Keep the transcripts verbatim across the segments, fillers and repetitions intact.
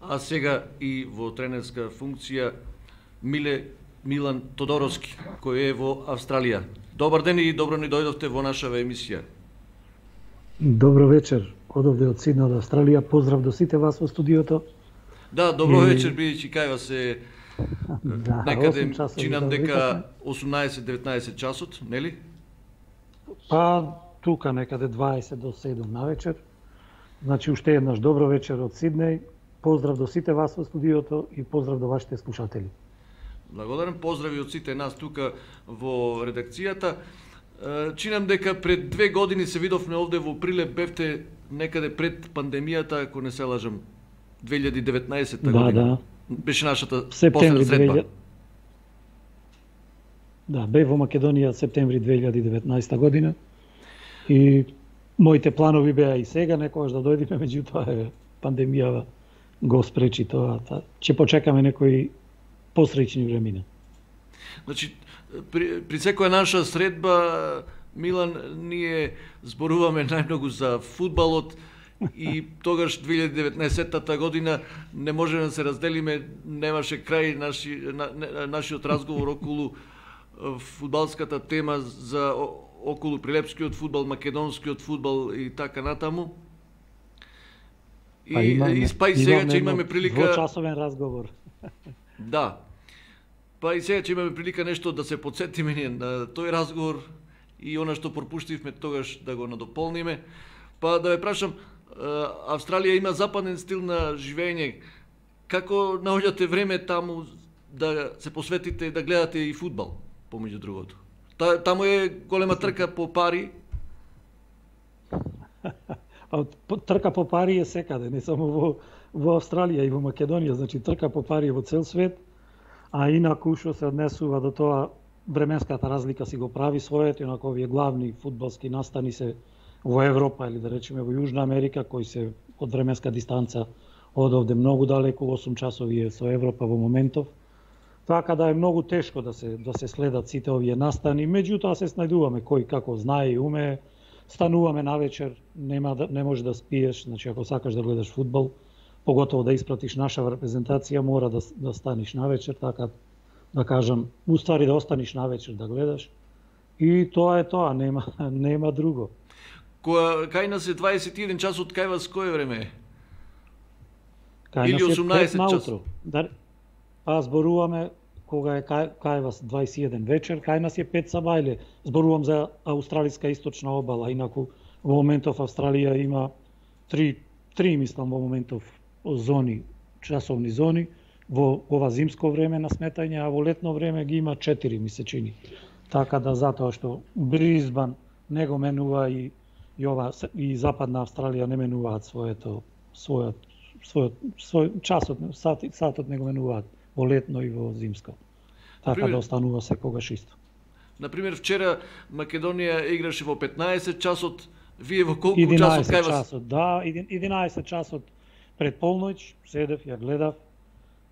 а сега и во тренерска функција Миле Милан Тодоровски, кој е во Австралија. Добар ден и добро ни дојдовте во нашава емисија. Добро вечер, одовде од Сиднеј, од Австралија. Поздрав до сите вас во студиото. Да, добро и... вечер, бидејќи кај вас е да, некаде, чинам дека осумнаесет-деветнаесет часот, нели? Па, тука некаде дваесет до седум на вечер. Значи, уште еднаш добро вечер од Сиднеј. Поздрав до сите вас во студиото и поздрав до вашите слушатели. Благодарам, поздрави од сите нас тука во редакцијата. Чинам дека пред две години се видовме овде во Прилеп, бевте некаде пред пандемијата, ако не се лажам, две илјади и деветнаесетта да, година. Да. Беше нашата септември последна средба. две илјади Да, бев во Македонија септември две илјади и деветнаесетта година и моите планови беа и сега некогаш да дојдеме, меѓутоа пандемијава го спречи тоа. Ќе почекаме некои посреќни времена. Значи, при, при секоја наша средба, Милан, ние зборуваме најмногу за фудбалот и тогаш две илјади и деветнаесетта година не може да се разделиме, немаше крај наши, на, нашиот разговор околу фудбалската тема за околу прилепскиот фудбал, македонскиот фудбал и така натаму. И, па имаме, и, па и сега ќе имаме прилика... Двочасовен разговор. Да. Па и сега ќе имаме прилика нешто да се подсетиме ние на тој разговор и она што пропуштивме тогаш да го надополниме. Па да ве прашам, Австралија има западен стил на живење. Како наоѓате време таму да се посветите и да гледате и фудбал, помеѓу другото? Та, таму е голема трка по пари. Трка по пари е секаде, не само во, во Австралија и во Македонија, значи трка по пари е во цел свет, а инаку што се однесува до тоа, временската разлика си го прави своето, инаку овие главни фудбалски настани се во Европа или да речеме во Јужна Америка, кои се од временска дистанца од овде многу далеку, осум часови е со Европа во моментов. Така да е многу тешко да се да се следат сите овие настани, меѓутоа се снајдуваме кој како знае и уме. Стануваме навечер, нема да, не може да спиеш, значи ако сакаш да гледаш фудбал, поготово да испратиш наша репрезентација, мора да, да станиш навечер, така да кажам, уствари да останиш навечер да гледаш. И тоа е тоа, нема нема друго. Која кај нас е дваесет и еден часот, кај вас кое време е? Кај или осумнаесет часот? Да, па зборуваме кога е кај, кај вас дваесет и еден вечер, кај нас е пет сабајле. Зборувам за австралиска источна обала, инаку во моментов Австралија има три, три мислам во моментов зони, часовни зони, во ова зимско време на сметање, а во летно време ги има четири, ми се чини. Така да затоа што Бризбан не го менува и и ова и Западна Австралија не менуваат своето својот својот свој часот, сатот, сатот не го менуваат во летно и во зимско. Така Например, да останува секогаш исто. Например, вчера Македонија играше во петнаесет часот, вие во колку часот кај вас? Часот, да, единаесет часот пред полноќ, седев, ја гледав,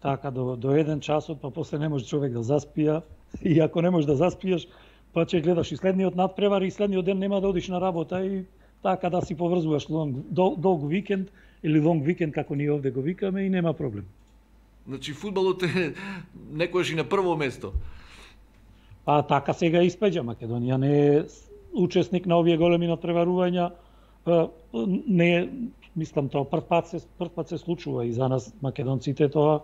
така до, до еден часот, па после не може човек да заспија, и ако не можеш да заспиеш, па ќе гледаш и следниот надпревар и следниот ден нема да одиш на работа и така да си поврзуваш лонг, дол, долг викенд или лонг викенд како ние овде го викаме и нема проблем. Значи фудбалот е некојаш и на прво место. А така сега испеѓа, Македонија не е учесник на овие големи надпреварувања, не е, мислам тоа прв пат се прв пат се случува и за нас македонците тоа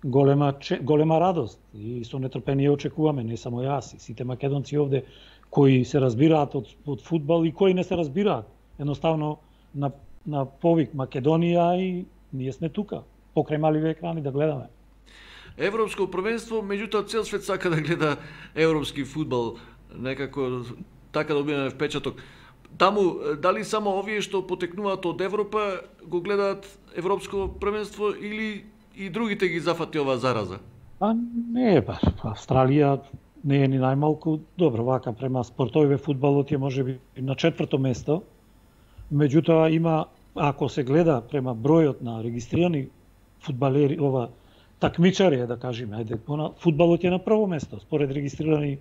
голема голема радост и со нетрпение очекуваме, не само јас, и сите македонци овде кои се разбираат од од фудбал и кои не се разбираат. Едноставно на на повик Македонија и ние сме тука, покрај маливи екрани да гледаме. Европско првенство, меѓутоа цел свет сака да гледа европски фудбал, некако така добиваме впечаток. Таму, дали само овие што потекнуваат од Европа го гледаат европско првенство или и другите ги зафати оваа зараза? А не е баш. Австралија не е ни најмалку добро, вака према спортовиве фудбалот е можеби на четврто место. Меѓутоа има, ако се гледа према бројот на регистрирани фудбалери, ова такмичари е да кажеме, ајде, фудбалот е на прво место според регистрирани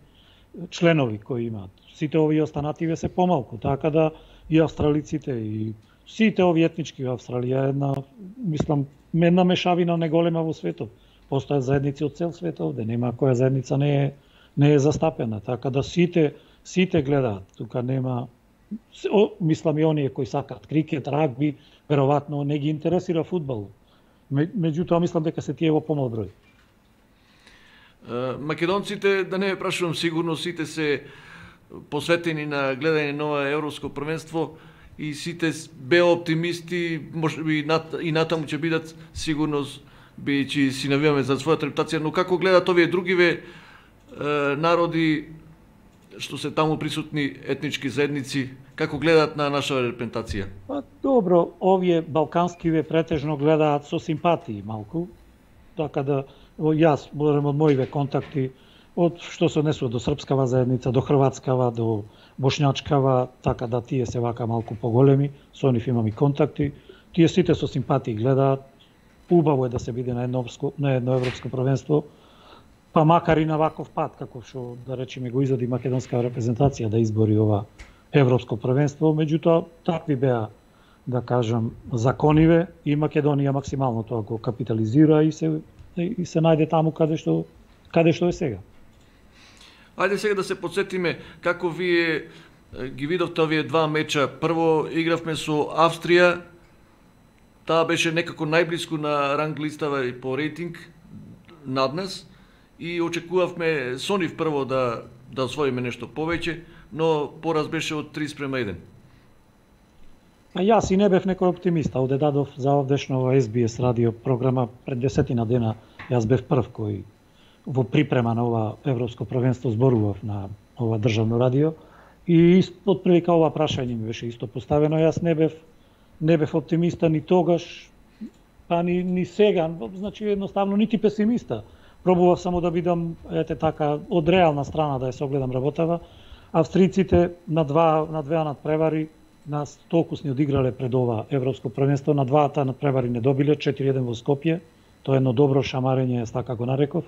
членови кои имаат. Сите овие останативе се помалку, така да и австралиците и сите овие етнички во Австралија една, мислам, една мешавина неголема во светот. Постојат заедници од цел свет овде, нема која заедница не е не е застапена, така да сите сите гледаат. Тука нема о, мислам и оние кои сакаат крикет, рагби, веројатно не ги интересира фудбал. Меѓутоа мислам дека се тие во помал број. Македонците, да не ве прашувам, сигурно сите се посветени на гледање на ова европско првенство и сите беа оптимисти, можеби и натаму ќе бидат сигурно бидејќи си навиваме за својата репутација, но како гледат овие другиве народи што се таму присутни етнички заедници, како гледаат на нашава репрезентација? Па добро, овие балканскиве претежно гледаат со симпатии малку, така да јас борем од моиве контакти, од што се однесува до српскава заедница, до хрватскава, до бошњачкава, така да тие се вака малку поголеми, со нив имам и контакти. Тие сите со симпатии гледаат. Убаво е да се биде на едно европско, на едно европско првенство, па макар и на ваков пат, како што да речеме го изоди македонска репрезентација да избори ова европско првенство, меѓутоа такви беа, да кажам, закониве и Македонија максимално тоа го капитализира и се и се најде таму каде што каде што е сега. Ајде сега да се подсетиме како вие ги видовте овие два меча. Прво игравме со Австрија, таа беше некако најблиску на ранг листава и по рейтинг над нас и очекувавме со нив прво да да освоиме нешто повеќе, но пораз беше од три спрема еден. А јас и не бев некој оптимист, овде дадов за овдешно Ес Би Ес радио програма пред десетина дена, јас бев прв кој во припрема на ова европско првенство зборував на ова државно радио и од прилика ова прашање ми беше исто поставено, јас не бев не бев оптимиста ни тогаш, па ни, ни сега, значи едноставно нити песимиста. Пробував само да бидам, ете така, од реална страна да ја согледам работава. Австриците на два на две надпревари нас толку сни одиграле пред ова европско првенство, на дваата надпревари не добиле, четири еден во Скопје, тоа е едно добро шамарење, така го нареков,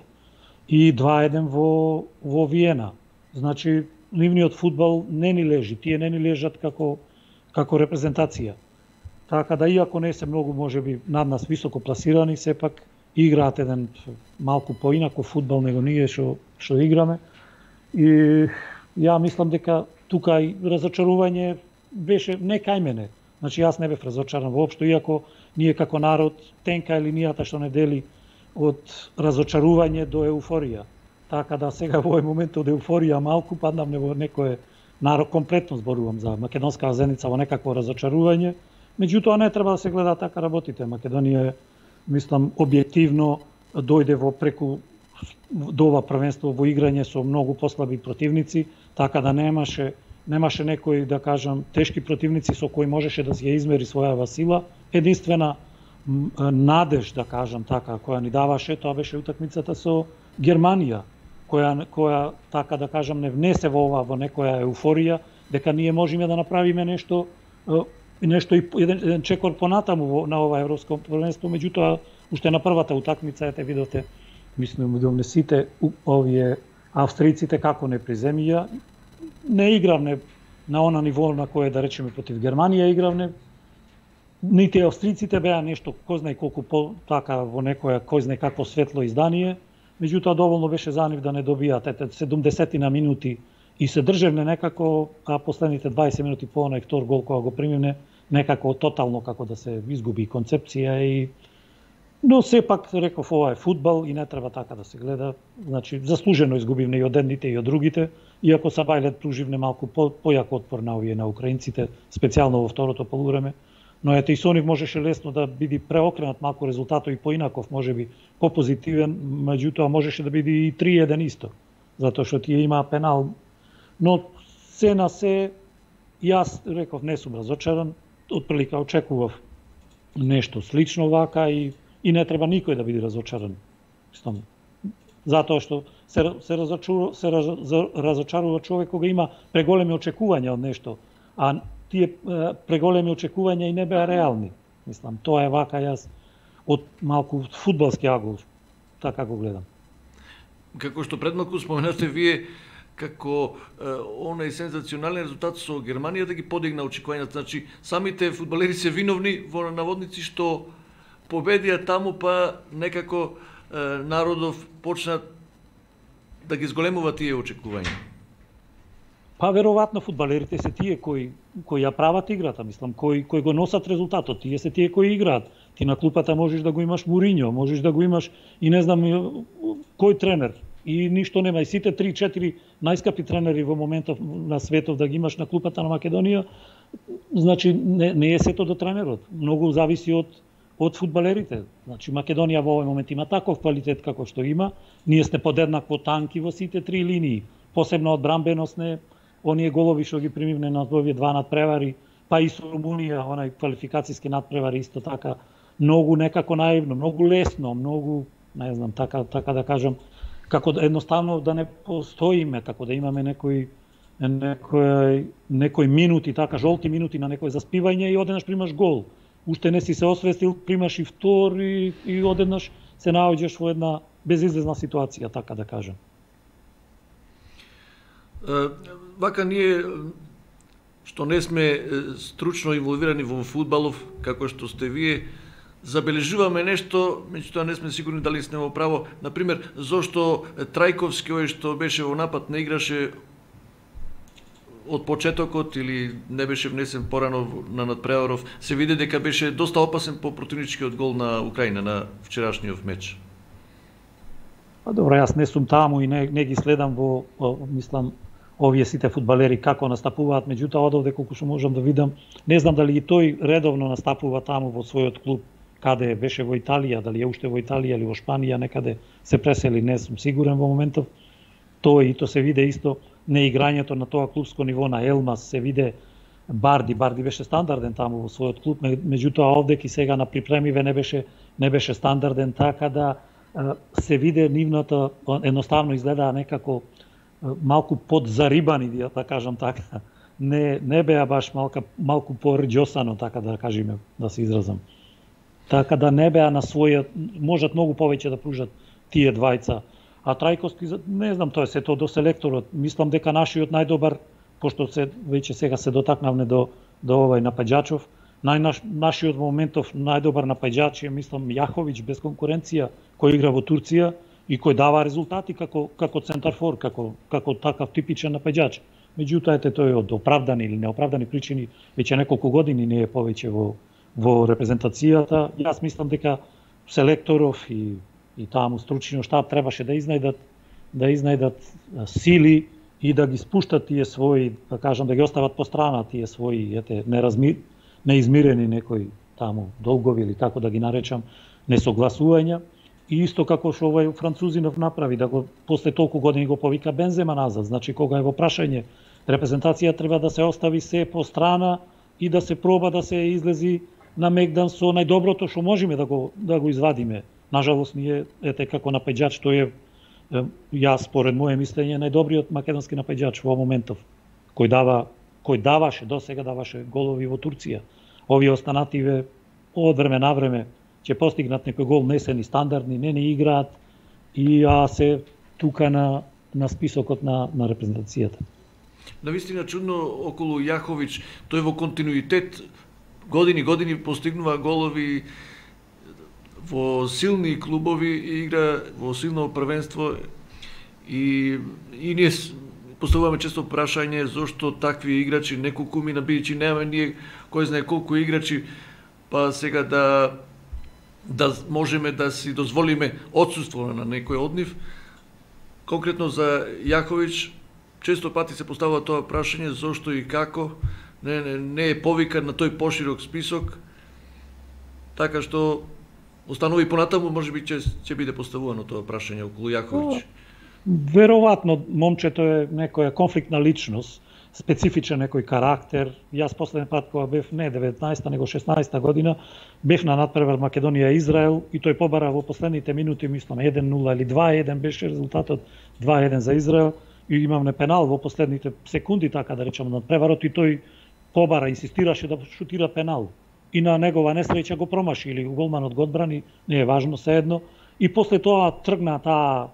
и два еден во во Виена. Значи нивниот фудбал не ни лежи, тие не ни лежат како како репрезентација. Така да, иако не се многу, можеби, над нас високо пласирани, сепак играат еден малку поинаков фудбал него ние што што играме. И ја мислам дека тука и разочарување беше не кај мене. Значи јас не бев разочаран воопшто, иако ние како народ тенка линијата што не дели од разочарување до еуфорија. Така да сега во овој момент од еуфорија малку паднавме во некое народ, комплетно зборувам за македонска заедница, во некакво разочарување. Меѓутоа не треба да се гледа така работите. Македонија, мислам, објективно дојде во преку до ова првенство во играње со многу послаби противници, така да немаше немаше некои, да кажам, тешки противници со кои можеше да се измери својава сила. Единствена надеж, да кажам така, која ни даваше, тоа беше утакмицата со Германија, која која така да кажам не внесе во ова во некоја еуфорија дека ние можеме да направиме нешто и нешто и еден, еден чекор понатаму во, на ова европско првенство, меѓутоа уште на првата утакмица ете видовте, мислам да сите овие австриците како не приземија, не игравне на она ниво на кое да речеме против Германија игравне. Нити австриците беа нешто кој знае колку по така во некоја кој знае какво светло издание, меѓутоа доволно беше за нив да не добијат ете седумдесет на минути и се држевне некако, а последните дваесет минути по онај втор гол кога го примивне, некако тотално како да се изгуби концепција и но сепак реков ова е фудбал и не треба така да се гледа. Значи заслужено изгубивме и од едните и од другите, иако Сабајлет пруживне малку по, појак отпор на овие на украинците, специјално во второто полувреме. Но ете и со нив можеше лесно да биде преокренат малку резултатот и поинаков, можеби попозитивен, меѓутоа можеше да биде и три еден исто, затоа што тие имаа пенал. Но се на се, јас реков не сум разочаран, отприлика очекував нешто слично вака и и не треба никој да биде разочаран. Мислам, затоа што се се разочарува се разочарува човек кога има преголеми очекувања од нешто, а тие преголеми очекувања и не беа реални. Мислам, тоа е вака јас од малку фудбалски агол така го гледам. Како што предмалку споменавте вие, како е, онај сензационален резултат со Германија да ги подигна очекувањата. Значи, самите фудбалери се виновни во наводници што победија таму, па некако народов почна да ги зголемува тие очекувања? Па веројатно фудбалерите се тие кои кои ја прават играта, мислам, кои кои го носат резултатот, тие се тие кои играат. Ти на клупата можеш да го имаш Муриньо, можеш да го имаш и не знам кој тренер. И ништо нема. И сите три-четири најскапи тренери во моментов на светов да ги имаш на клупата на Македонија, значи не, не е сето до тренерот. Многу зависи од од фудбалерите. Значи Македонија во овој момент има таков квалитет како што има. Ние сте подеднакво танки во сите три линии, посебно одбранбеносне, оние голови што ги примивне на овие два надпревари, па и со Румунија, онај квалификацијски надпревари исто така, многу некако наивно, многу лесно, многу, не знам, така така да кажам, како да едноставно да не постоиме, како да имаме некои некои некои минути, така жолти минути на некој заспивање и одеднаш примаш гол. Уште не си се освестил, примаш и втор и, и одеднаш се наоѓаш во една безизлезна ситуација, така да кажам. Вака ние што не сме стручно инволвирани во фудбалов, како што сте вие, забележуваме нешто, меѓутоа не сме сигурни дали сме во право. Например, зошто Трајковски, ој што беше во напад, не играше од почетокот или не беше внесен порано на надпреваров. Се види дека беше доста опасен по противничкиот гол на Украина на вчерашниот меч. Па добро, јас не сум таму и не, не ги следам во, во мислам, овие сите фудбалери како настапуваат, меѓутоа од овде колку што можам да видам, не знам дали и тој редовно настапува таму во својот клуб, каде беше во Италија, дали е уште во Италија или во Шпанија, некаде се пресели, не сум сигурен во моментов. Тоа и то се виде исто неиграњето на тоа клубско ниво на Елмас, се виде Барди, Барди беше стандарден таму во својот клуб, меѓутоа овде ки сега на припремиве не беше не беше стандарден, така да се виде нивната, едноставно изгледаа некако малку подзарибани, да кажам така. Не не беа баш малка малку порџосано, така да кажеме, да се изразам. Така да не беа на својот, можат многу повеќе да пружат тие двајца. А Трајковски, не знам, тоа е сето до селекторот. Мислам дека нашиот најдобар, пошто се веќе сега се дотакнавме до до овај напаѓачов, најнаш нашиот моментов најдобар напаѓач е, мислам, Јаховиќ без конкуренција, кој игра во Турција и кој дава резултати како како центарфор, како како такав типичен напаѓач. Меѓутоа ете тој од оправдани или неоправдани причини веќе неколку години не е повеќе во во репрезентацијата. Јас мислам дека селекторов и и таму стручниот штаб требаше да изнајдат да изнајдат сили и да ги спуштат тие своји, да кажам, да ги остават по страна тие своји ете неразми неизмирени некои таму долгови или како да ги наречам, несогласувања. И исто како што овој Французинов направи, да го после толку години го повика Бензема назад, значи кога е во прашање репрезентација треба да се остави се по страна и да се проба да се излези на мегдан со најдоброто што можеме да го да го извадиме. Нажалост ние ете како напаѓач тој е, е јас според мое мислење најдобриот македонски напаѓач во моментов, кој дава кој даваше до сега даваше голови во Турција. Овие останативе од време на време ќе постигнат некој гол, не се ни стандардни, не ни играат и а се тука на на списокот на на репрезентацијата. Навистина чудно околу Јаховиќ, тој во континуитет години години постигнува голови во силни клубови и игра во силно првенство и и ние поставуваме често прашање зошто такви играчи неколку мина бидејќи немаме ние кој знае колку играчи, па сега да да можеме да си дозволиме отсуство на некој од нив. Конкретно за Јаховиќ често пати се поставува тоа прашање зошто и како не, не, не е повикан на тој поширок список, така што останови понатаму можеби ќе ќе биде поставувано тоа прашање околу Јаховиќ. Веројатно момчето е некоја конфликтна личност, специфичен некој карактер. Јас последен пат кога бев не деветнаесетта него шеснаесетта година бев на надпревар Македонија Израел и тој побара во последните минути, мислам еден нула или два еден беше резултатот, два еден за Израел и имавме пенал во последните секунди, така да речам, надпреварот и тој побара, инсистираше да шутира пенал. И на негова несреќа го промаши или голманот го одбрани, не е важно, sejedno. И после тоа тргна таа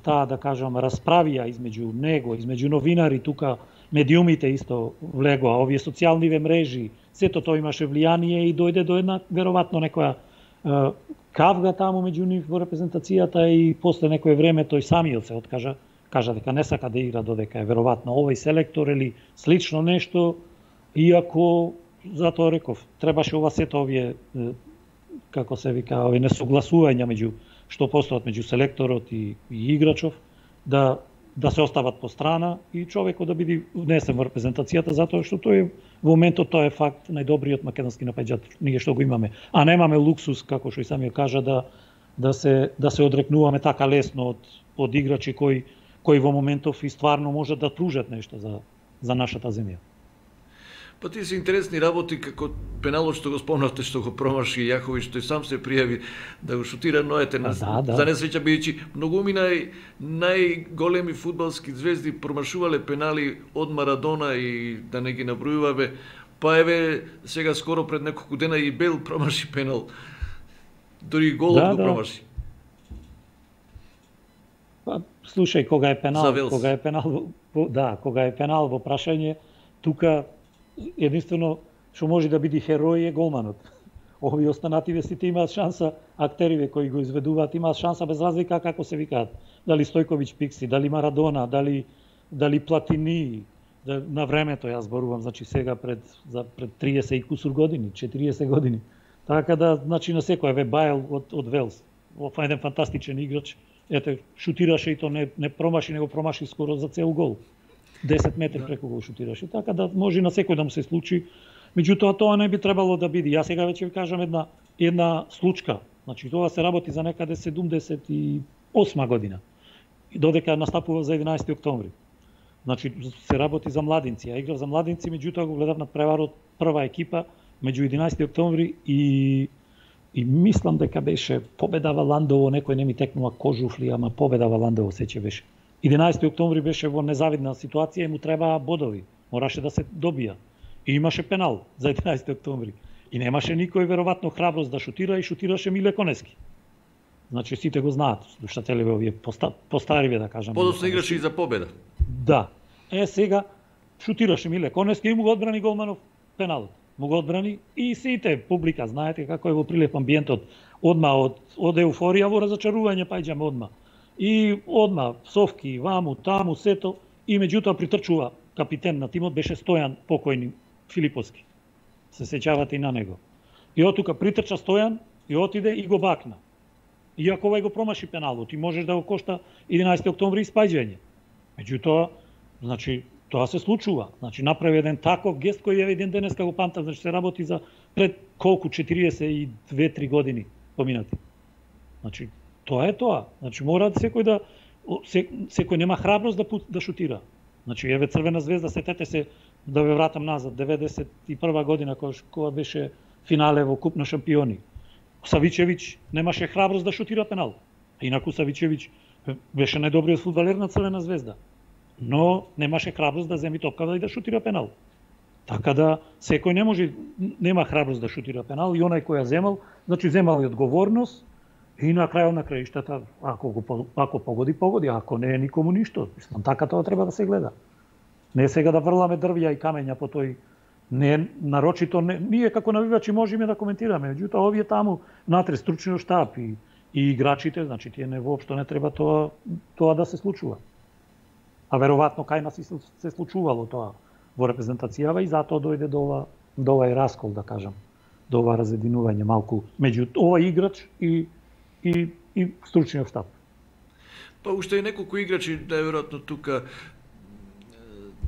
таа да кажам расправија измеѓу него, измеѓу новинари тука, медиумите исто влегоа, овие социјалниве мрежи, сето тоа имаше влијание и дојде до една веројатно некоја Кавга таму меѓу нив во репрезентацијата и после некое време тој самиот се откажа, кажа дека не сака да игра додека е веројатно овој селектор или слично нешто, иако затоа реков, требаше ова сето овие, како се вика, овие несогласувања меѓу што постојат меѓу селекторот и, и играчов, да да се остават по страна и човекот да биде внесен во репрезентацијата, затоа што тој во моментот тоа е факт најдобриот македонски напаѓач, ние што го имаме, а немаме луксус, како што и самиот кажа, да да се да се одрекнуваме така лесно од од играчи кои кои во моментов и стварно можат да пружат нешто за за нашата земја. Па тие се интересни работи, како пеналот што го спомнавте, што го промаши Јахович, тој сам се пријави да го шутира ноете на да, да. За несреќа бидејќи многуми нај најголеми фудбалски звезди промашувале пенали од Марадона и да не ги набројуваме. Па еве сега скоро пред неколку дена и Бел промаши пенал. Дори голот да, го да. промаши. Па слушај, кога е пенал, кога е пенал, да, кога е пенал во прашање, тука единствено што може да биде херој е голманот. Овие останативе сите имаат шанса, актериве кои го изведуваат имаат шанса без разлика како се викаат. Дали Стојковиќ Пикси, дали Марадона, дали дали Платини, да, на времето јас зборувам, значи сега пред за пред триесет и кусур години, четириесет години. Така да, значи на секој еве Бајл од од Велс, ова еден фантастичен играч. Ете, шутираше и то не не промаши, него промаши скоро за цел гол. десет метри преку го шутираше, така да може на секој да му се случи. Меѓутоа тоа не би требало да биде. Јас сега веќе ви кажам една една случка. Значи тоа се работи за некаде седумдесет и осма година. И додека настапува за единаесети октомври. Значи се работи за младинци. Ја играв за младинци, меѓутоа го гледав на преварот прва екипа меѓу единаесети октомври и и мислам дека беше победава Ландово, некој не ми текнува Кожуфли, ама победава Ландово сеќе беше. единаесети октомври беше во незавидна ситуација и му требаа бодови. Мораше да се добија. И имаше пенал за единаесети октомври. И немаше никој веројатно храброст да шутира и шутираше Миле Конески. Значи сите го знаат, слушателиве овие поста, постариве да кажам. Подоцна играше и за победа. Да. Е сега шутираше Миле Конески и му го одбрани голманов пеналот. Му го одбрани и сите публика знаете како е во прилеп амбиентот. Одма од од еуфорија во разочарување паѓаме одма. И одма совки, ваму, таму, сето, и меѓутоа притрчува капитен на тимот, беше Стојан покојни Филиповски. Се сеќавате и на него. И од тука притрча Стојан и отиде и го бакна. Иако овај го промаши пеналот и можеш да го кошта единаесети октомври испаѓање. Меѓутоа, значи, тоа се случува. Значи, направи еден таков гест кој е еден денеска го памтам, значи се работи за пред колку четириесет и две три години поминати. Значи, тоа е тоа. Значи мора секој да секој нема храброст да да шутира. Значи еве Црвена звезда, сетете се да ве вратам назад деветдесет и прва година кога беше финале во Куп на шампиони. Савичевиќ немаше храброст да шутира пенал. Инаку Савичевиќ беше најдобриот фудбалер на Црвена звезда. Но немаше храброст да земи топката и да шутира пенал. Така да секој не може нема храброст да шутира пенал и онај кој ја земал, значи земал и одговорност. И на крајот на краиштата, ако го ако погоди, погоди, ако не е никому ништо. Мислам, така тоа треба да се гледа. Не сега да врламе дрвја и камења по тој не нарочито не, ние како навивачи можеме да коментираме, меѓутоа овие таму натре стручниот штаб и и играчите, значи тие не воопшто не треба тоа тоа да се случува. А веројатно кај нас и се случувало тоа во репрезентацијава и затоа дојде до ова до овај раскол, да кажам, до ова разединување малку меѓу овој играч и и и стручниот штаб. Па уште и неколку играчи, најверојатно тука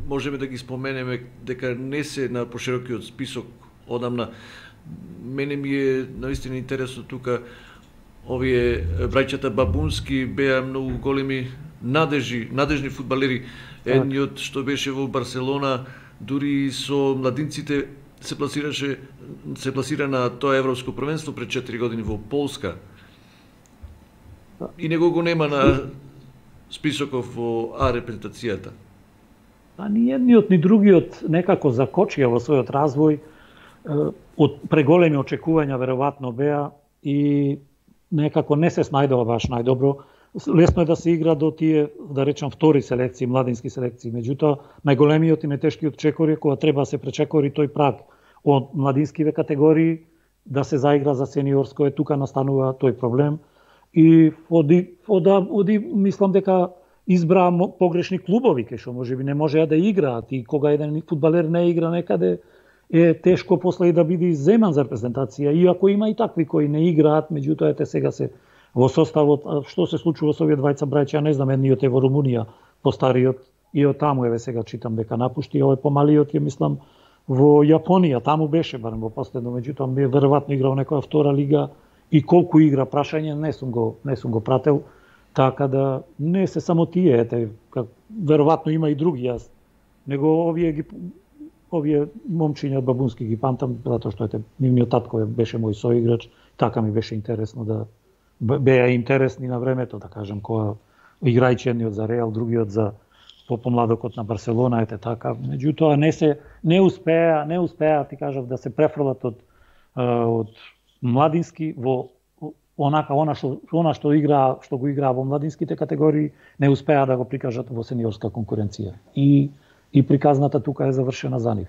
можеме да ги споменеме дека не се на поширокиот список одамна. Мене ми е наистина интересно тука овие браќата Бабунски беа многу големи надежи, надежни фудбалери. Едниот што беше во Барселона, дури со младинците се пласираше се пласира на тоа европско првенство пред четири години во Полска. И него го нема на списоков во А репрезентацијата. А ни едниот ни другиот некако закочија во својот развој, од преголеми очекувања веројатно беа и некако не се снајдува баш најдобро. Лесно е да се игра до тие, да речам, втори селекции, младински селекции. Меѓутоа, најголемиот и најтешкиот чекор е кога треба да се пречекори тој праг од младинскиве категории да се заигра за сениорско, е тука настанува тој проблем. И оди, ода, оди мислам дека избра погрешни клубови, кај што можеби не можеа да играат, и кога еден фудбалер не игра некаде, е тешко после и да биде земан за репрезентација, иако има и такви кои не играат, меѓутоа ете сега се во составот. Што се случува со овие двајца браќа, ја не знам, едниот е во Румунија, постариот, и од таму еве сега читам дека напушти, овој помалиот ја мислам во Јапонија, таму беше барем во последно, меѓутоа би веројатно играл некоја втора лига, и колку игра, прашање, не сум го не сум го прател, така да не се само тие, ете, как веројатно има и други, јас него овие ги овие момчиња бабунски ги памтам, затоа што ете нивниот татко беше мој соиграч, така ми беше интересно да беа интересни на времето, да кажам, кога играјќи едниот за Реал, другиот за попомладокот на Барселона, ете така. Меѓутоа не се не успеа, не успеа, ти кажав, да се префрлат од од младински во онака она што она што игра, што го играа во младинските категории, не успеа да го прикажат во сениорска конкуренција. И и приказната тука е завршена за нив.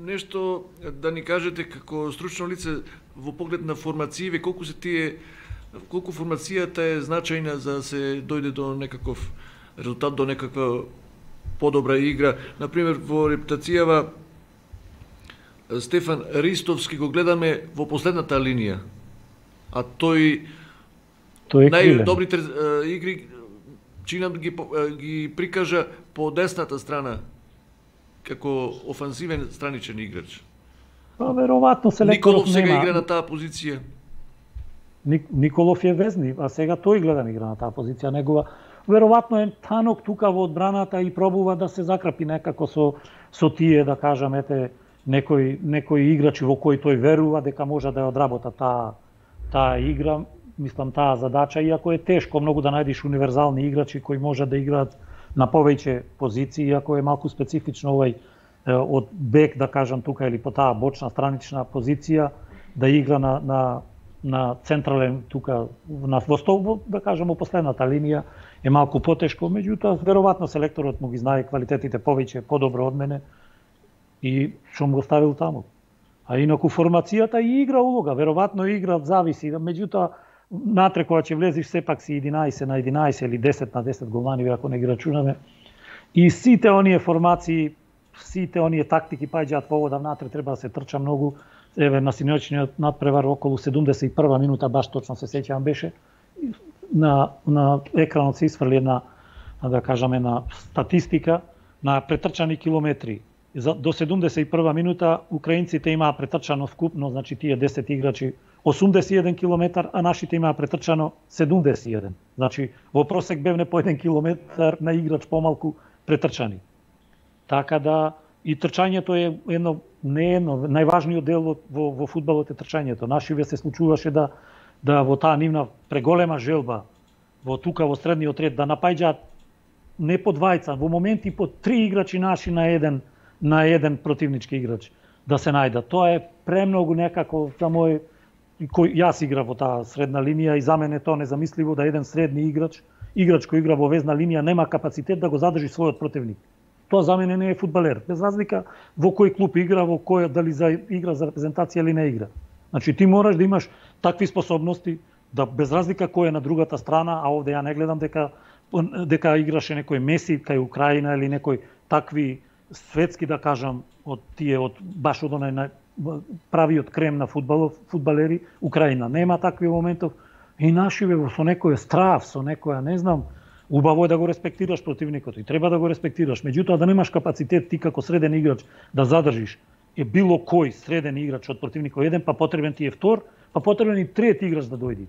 Нешто да ни кажете како стручно лице во поглед на формацији, колку се тие колку формацијата е значајна за да се дојде до некаков резултат, до некаква подобра игра. Например, во репутацијава Стефан Ристовски го гледаме во последната линија, а тој тој најдобрите игри чинам ги ги прикажа по десната страна како офанзивен страничен играч. Па веројатно селекторот Николов сега нема. игра на таа позиција. Николов е везни, а сега тој гледам игра на таа позиција, негова веројатно е танок тука во одбраната и пробува да се закрапи некако со со тие, да кажам, ете некои некои играчи во кои тој верува дека може да ја одработа таа таа игра, мислам таа задача, иако е тешко многу да најдеш универзални играчи кои може да играат на повеќе позиции, иако е малку специфично овој од бек, да кажам тука, или по таа бочна странична позиција да игра на на на централен тука на во да кажам во последната линија е малку потешко, меѓутоа веројатно селекторот му ги знае квалитетите повеќе, подобро од мене и што му го ставил таму. А инаку формацијата и игра улога, веројатно игра зависи, меѓутоа натре кога ќе влезеш сепак си единаесет на единаесет или десет на десет голмани, ако не ги рачунаме. И сите оние формации, сите оние тактики паѓаат во вода, внатре треба да се трча многу. Еве на синоќниот надпревар околу седумдесет и прва минута, баш точно се сеќавам, беше на на екранот се исфрли една, да кажаме, на статистика на претрчани километри. До седумдесет и прва минута украинците имаа претрчано вкупно, значи тие десет играчи, осумдесет и еден километар, а нашите имаа претрчано седумдесет и еден. Значи во просек бевне по еден километар на играч помалку претрчани. Така да и трчањето е едно не едно најважниот дел во во фудбалот е трчањето. Нашиве се случуваше да да во таа нивна преголема желба во тука во средниот ред да напаѓаат не по двајца, во моменти по три играчи наши на еден на еден противнички играч да се најдат. Тоа е премногу некако за мој кој јас игра во таа средна линија и за мене тоа незамисливо да еден средни играч, играч кој игра во везна линија нема капацитет да го задржи својот противник. Тоа за мене не е фудбалер, без разлика во кој клуб игра, во кој дали за игра за репрезентација или не игра. Значи ти мораш да имаш такви способности да без разлика кој е на другата страна, а овде ја не гледам дека дека играше некој Меси кај Украина или некој такви светски, да кажам, од тие од баш од онај правиот крем на фудбалов, фудбалери, Украина нема такви моментов и нашиве со некој страв, со некоја, не знам, убаво е да го респектираш противникот и треба да го респектираш. Меѓутоа да немаш капацитет ти како среден играч да задржиш е било кој среден играч од противникот еден, па потребен ти е втор, па потребен и трет играч да дојди.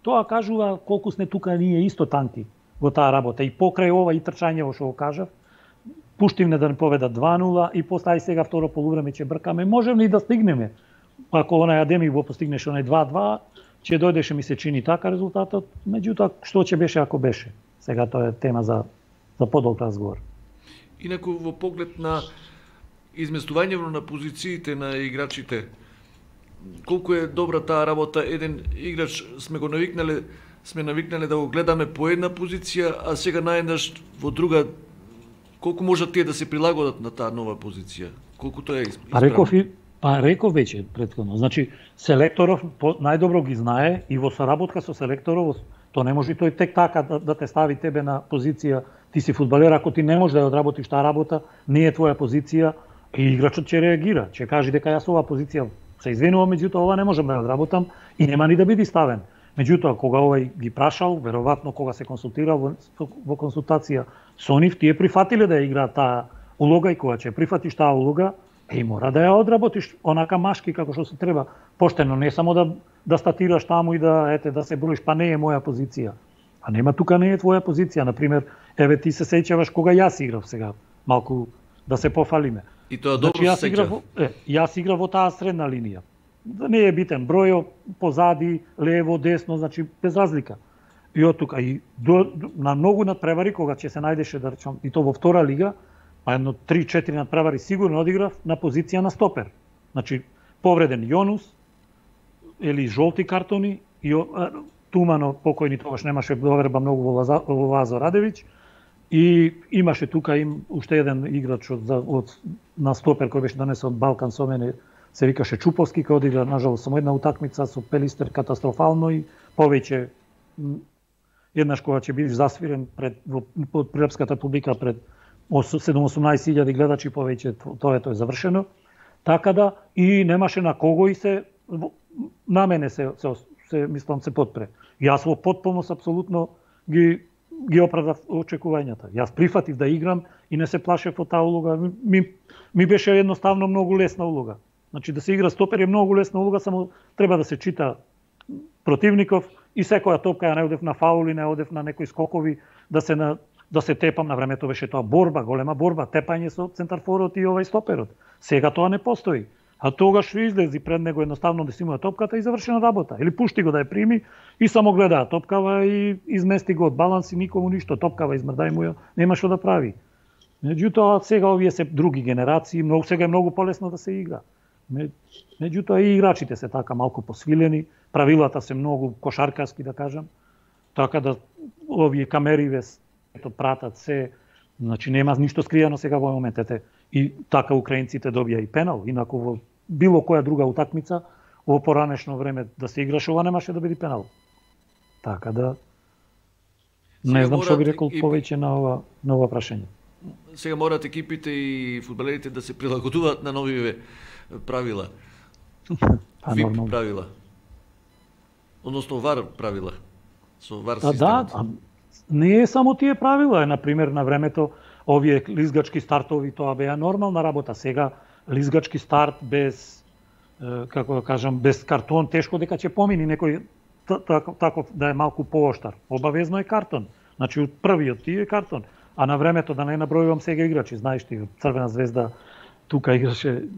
Тоа кажува колку сме тука ние исто танки во таа работа и покрај ова и трчањево што го кажав, пуштивме да не поведат два нула и после ај сега второ полувреме ќе бркаме, можеме и да стигнеме. Ако онај Адемив го постигнеш онај два два, ќе дојдеше ми се чини така резултатот, меѓутоа што ќе беше ако беше. Сега тоа е тема за за подолг разговор. Инаку во поглед на изместувањето на позициите на играчите, колку е добра таа работа, еден играч сме го навикнале, сме навикнале да го гледаме по една позиција, а сега наеднаш во друга. Колку можат тие да се прилагодат на таа нова позиција? Колку тоа е исправно? Па реков и Па реков веќе претходно. Значи селекторов најдобро ги знае и во соработка со селекторов, то не може тој тек така да, да те стави тебе на позиција, ти си фудбалер, ако ти не можеш да ја одработиш таа работа, не е твоја позиција и играчот ќе реагира, ќе каже дека јас оваа позиција се извинувам, меѓутоа ова не можам да ја одработам и нема ни да биде ставен. Меѓутоа кога овој ги прашал, веројатно кога се консултирал во, во консултација со нив, тие прифатиле да ја играат таа улога и кога ќе прифатиш таа улога, и мора да ја одработиш онака машки како што се треба, поштено, не само да да статираш таму и да ете да се броиш, па не е моја позиција. А нема тука не е твоја позиција, на пример, еве ти се сеќаваш кога јас играв сега, малку да се пофалиме. И тоа добро значи, се сеќав. Е, јас играв во таа средна линија. Да не е битен бројот, позади, лево, десно, значи без разлика. И од тука и до, на многу надпревари кога ќе се најдеше да речам и то во втора лига, па едно три-четири надпревари сигурно одиграв на позиција на стопер. Значи повреден Јонус или жолти картони и Тумано покојни тогаш немаше доверба многу во, Лаза, во Лазо Радевиќ и имаше тука им уште еден играч од, од на стопер кој беше донесен од Балкан со мене, се викаше Чуповски, кој одигра нажалост само една утакмица со Пелистер катастрофално и повеќе еднаш кога ќе бидеш засвирен пред во под прилепската публика пред седум-осумнаесет илјади гледачи повеќе, тоа е тоа е завршено. Така да и немаше на кого и се на мене се се, се мислам се подпре. Јас во потполност апсолутно ги ги оправдав очекувањата. Јас прифатив да играм и не се плашев од таа улога. Ми ми беше едноставно многу лесна улога. Значи да се игра стопер е многу лесна улога, само треба да се чита противников и секоја топка ја не одев на фаули, не одев на некои скокови, да се на да се тепам, на времето беше тоа борба, голема борба, тепање со центарфорот и овај стоперот. Сега тоа не постои. А тогаш излези пред него едноставно да си има топката и завршена работа. Или пушти го да ја прими и само гледа топкава и измести го од баланс и никому ништо, топкава измрдај му ја, нема што да прави. Меѓутоа сега овие се други генерации, многу сега е многу полесно да се игра. Меѓутоа и играчите се така малку посвилени, правилата се многу кошаркаски да кажам. Така да овие камери ето пратат се, значи нема ништо скриено сега во моментете. И така украинците добија и пенал, инаку во било која друга утакмица во поранешно време да се играше, ова немаше да биде пенал. Така да не знам што би рекол и... повеќе на ова на ова прашање. Сега морат екипите и фудбалерите да се прилагодуваат на новиве правила. Па, ВИП правила. Односно ВАР правила. Со ВАР системот. Да, а, не е само тие правила, на пример на времето овие лизгачки стартови тоа беа нормална работа. Сега лизгачки старт без како да кажам без картон тешко дека ќе помини некој таков да е малку пооштар. Обавезно е картон. Значи од првиот ти е картон. А на времето да не набројувам сега играчи, знаеш ти, Црвена звезда тука играше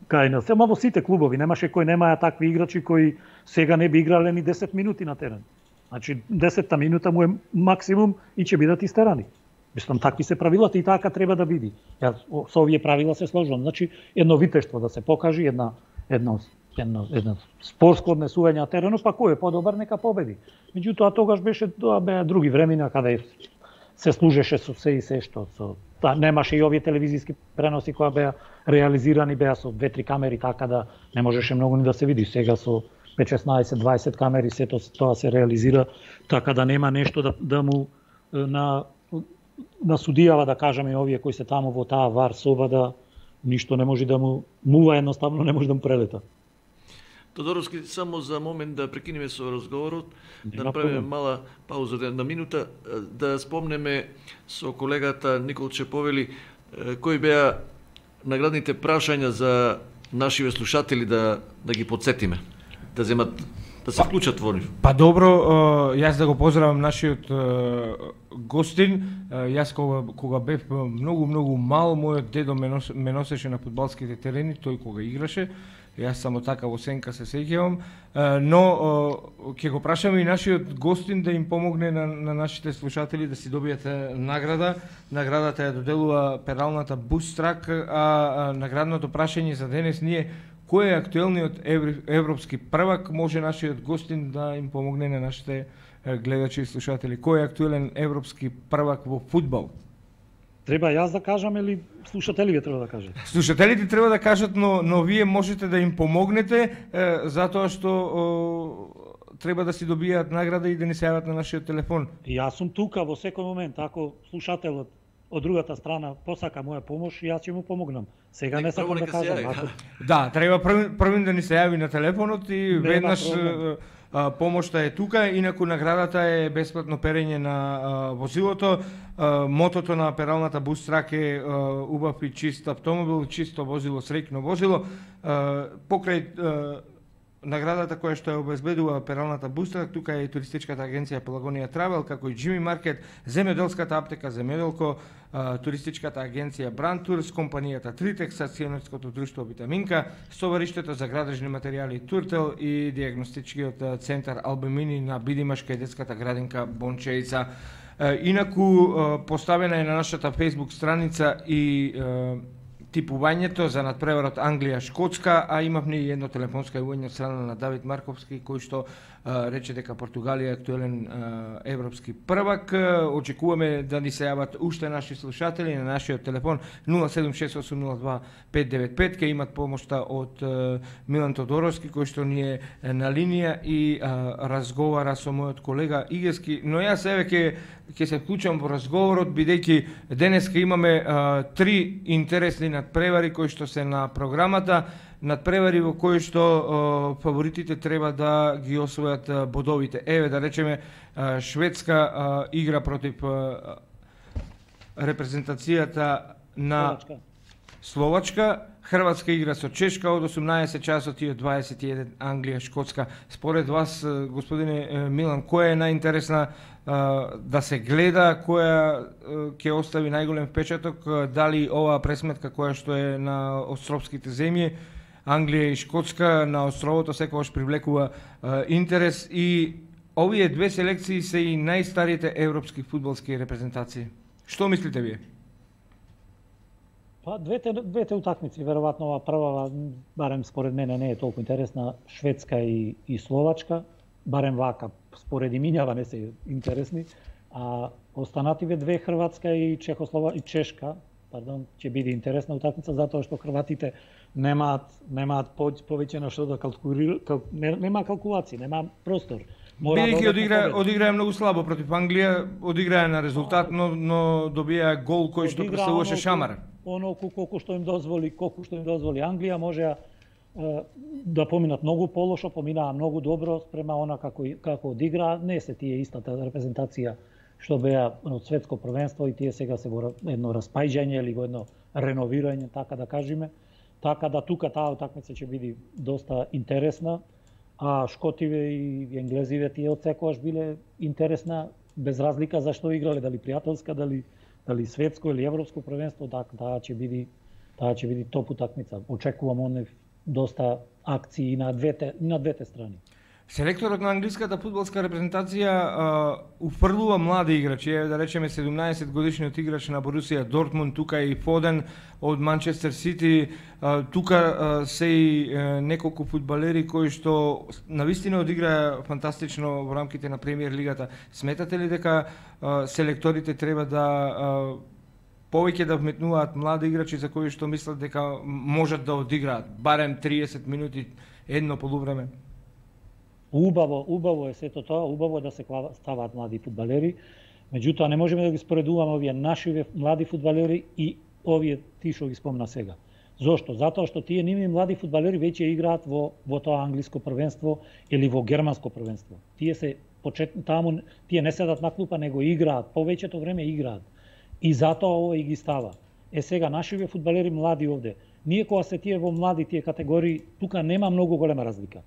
кај нас. Сема во сите клубови немаше кој немаја такви играчи кои сега не би играле ни десет минути на терен. Значи десетта минута му е максимум и ќе бидат истерани. Мислам, такви се правилата и така треба да биде. Јас со овие правила се сложувам. Значи, едно витештво да се покажи, една, едно, едно, едно спортско однесување на теренот, па кој е подобар, нека победи. Меѓутоа, тогаш беше, тоа беа други времена, каде се служеше со се и се што. Со, та, немаше и овие телевизиски преноси кои беа реализирани, беа со две-три камери, така да не можеше многу ни да се види. Сега со петнаесет-дваесет камери сето тоа се реализира, така да нема нешто да, да му на на судијава да кажеме овие кои се таму во таа ВАР соба да ништо не може да му мува, едноставно не може да му прелета. Тодоровски, само за момент да прекинеме со разговорот, Нема да направиме проблем. мала пауза една минута, да спомнеме со колегата Никол Чеповели кои беа наградните прашања за нашиве слушатели да да ги подсетиме, да земат да се вклучат во нив. Па добро, јас да го поздравам нашиот гостин. Јас кога, кога бев многу, многу мал, мојот дедо ме, нос, ме носеше на фудбалските терени, тој кога играше. Јас само така во сенка се сеќавам. Но ќе го прашаме и нашиот гостин да им помогне на, на нашите слушатели да си добијат награда. Наградата ја доделува пералната Бустрак, а наградното прашање за денес ние кој е актуелниот европски првак, може нашиот гостин да им помогне на нашите гледачи и слушатели. Кој е актуелен европски првак во фудбал? Треба јас да кажам или слушателите треба да кажат? Слушателите треба да кажат, но но вие можете да им помогнете е, затоа што о, треба да си добијаат награда и да ни се јават на нашиот телефон. Јас сум тука во секој момент, ако слушателот од другата страна посака моја помош, јас ќе му помогнам. Сега не, не сакам да кажам. Ако... Да, треба првин, првин да ни се јави на телефонот и Нема веднаш проблем. Помошта е тука, инаку наградата е бесплатно перење на а, возилото. А, мотото на пералната бус трак е а, убав и чист автомобил, чисто возило, среќно возило. А, покрај а, наградата која што ја обезбедува пералната бус трак, тука е туристичката агенција Пелагонија Травел, како и Джими Маркет, земјоделската аптека Земјоделко, туристичката агенција Бранд Турс, компанијата Тритекс, акционерското друштво Витаминка, стовариштето за градежни материјали Туртел и диагностичкиот центар Албемини на Бидимашка и детската градинка Бончеица. Инаку поставена е на нашата Facebook страница и типувањето за надпреварот Англија-Шкотска, а имавме и едно телефонско јавување од страна на Давид Марковски, кој што а, рече дека Португалија е актуелен а, европски првак. Очекуваме да ни се јават уште наши слушатели на нашиот телефон нула седум шест осум нула два пет девет пет, ке имат помошта од а, Милан Тодоровски, кој што ни е на линија и а, разговара со мојот колега Игески, но јас еве ке ќе се вклучам во разговорот, бидејќи денеска имаме а, три интересни надпревари кои што се на програмата, надпревари во кои што а, фаворитите треба да ги освојат а, бодовите. Еве да речеме а, Шведска а, игра против а, репрезентацијата на Словачка. Словачка, Хрватска игра со Чешка од осумнаесет часот и од дваесет и еден Англија, Шкотска. Според вас, господине Милан, која е најинтересна да се гледа, која ќе остави најголем впечаток, дали оваа пресметка која што е на островските земји, Англија и Шкотска, на островото секогаш привлекува интерес и овие две селекции се и најстарите европски фудбалски репрезентации. Што мислите вие? Па двете двете утакмици, веројатно ова прва, барем според мене не е толку интересна, Шведска и и Словачка, барем вака според имињава не се интересни, а останативе две, Хрватска и Чехослова и Чешка, пардон, ќе биде интересна утакмица затоа што хрватите немаат немаат повеќе на што да калкулираат, кал, нема калкулации, нема простор. Бидејќи одигра одиграа многу слабо против Англија, одиграа на резултат, но но добија гол кој што представуваше шамар. Оноку колку што им дозволи, колку што им дозволи Англија, можеа да поминат многу полошо, поминаа многу добро спрема она како како одиграа, не се тие истата репрезентација што беа од светско првенство и тие сега се во едно распајање или во едно реновирање, така да кажеме. Така да тука таа утакмица ќе биде доста интересна, а шкотиве и енглезиве тие од секогаш биле интересна без разлика за што играле, дали пријателска, дали дали светско или европско првенство, така таа ќе биде таа ќе биде топ утакмица. Очекувам онев доста акции на двете на двете страни. Селекторот на англиската фудбалска репрезентација а, уфрлува млади играчи, да речеме седумнаесет годишниот играч на Борусија Дортмунд, тука и Фоден од Манчестер Сити, а, тука а, се и а, неколку фудбалери кои што навистина одиграа фантастично во рамките на Премиер лигата. Сметате ли дека а, селекторите треба да а, повеќе да вметнуваат млади играчи за кои што мислат дека можат да одиграат барем триесет минути едно полувреме? Убаво, убаво е сето тоа, убаво е да се ставаат млади фудбалери, меѓутоа не можеме да ги споредуваме овие наши млади фудбалери и овие ти што ги спомна сега. Зошто? Затоа што тие ними млади фудбалери веќе играат во во тоа англиско првенство или во германско првенство. Тие се почет таму, тие не седат на клупа, него играат, повеќето време играат. И затоа ова и ги става. Е сега нашиве фудбалери млади овде. Ние кога се тие во млади тие категории, тука нема многу голема разлика.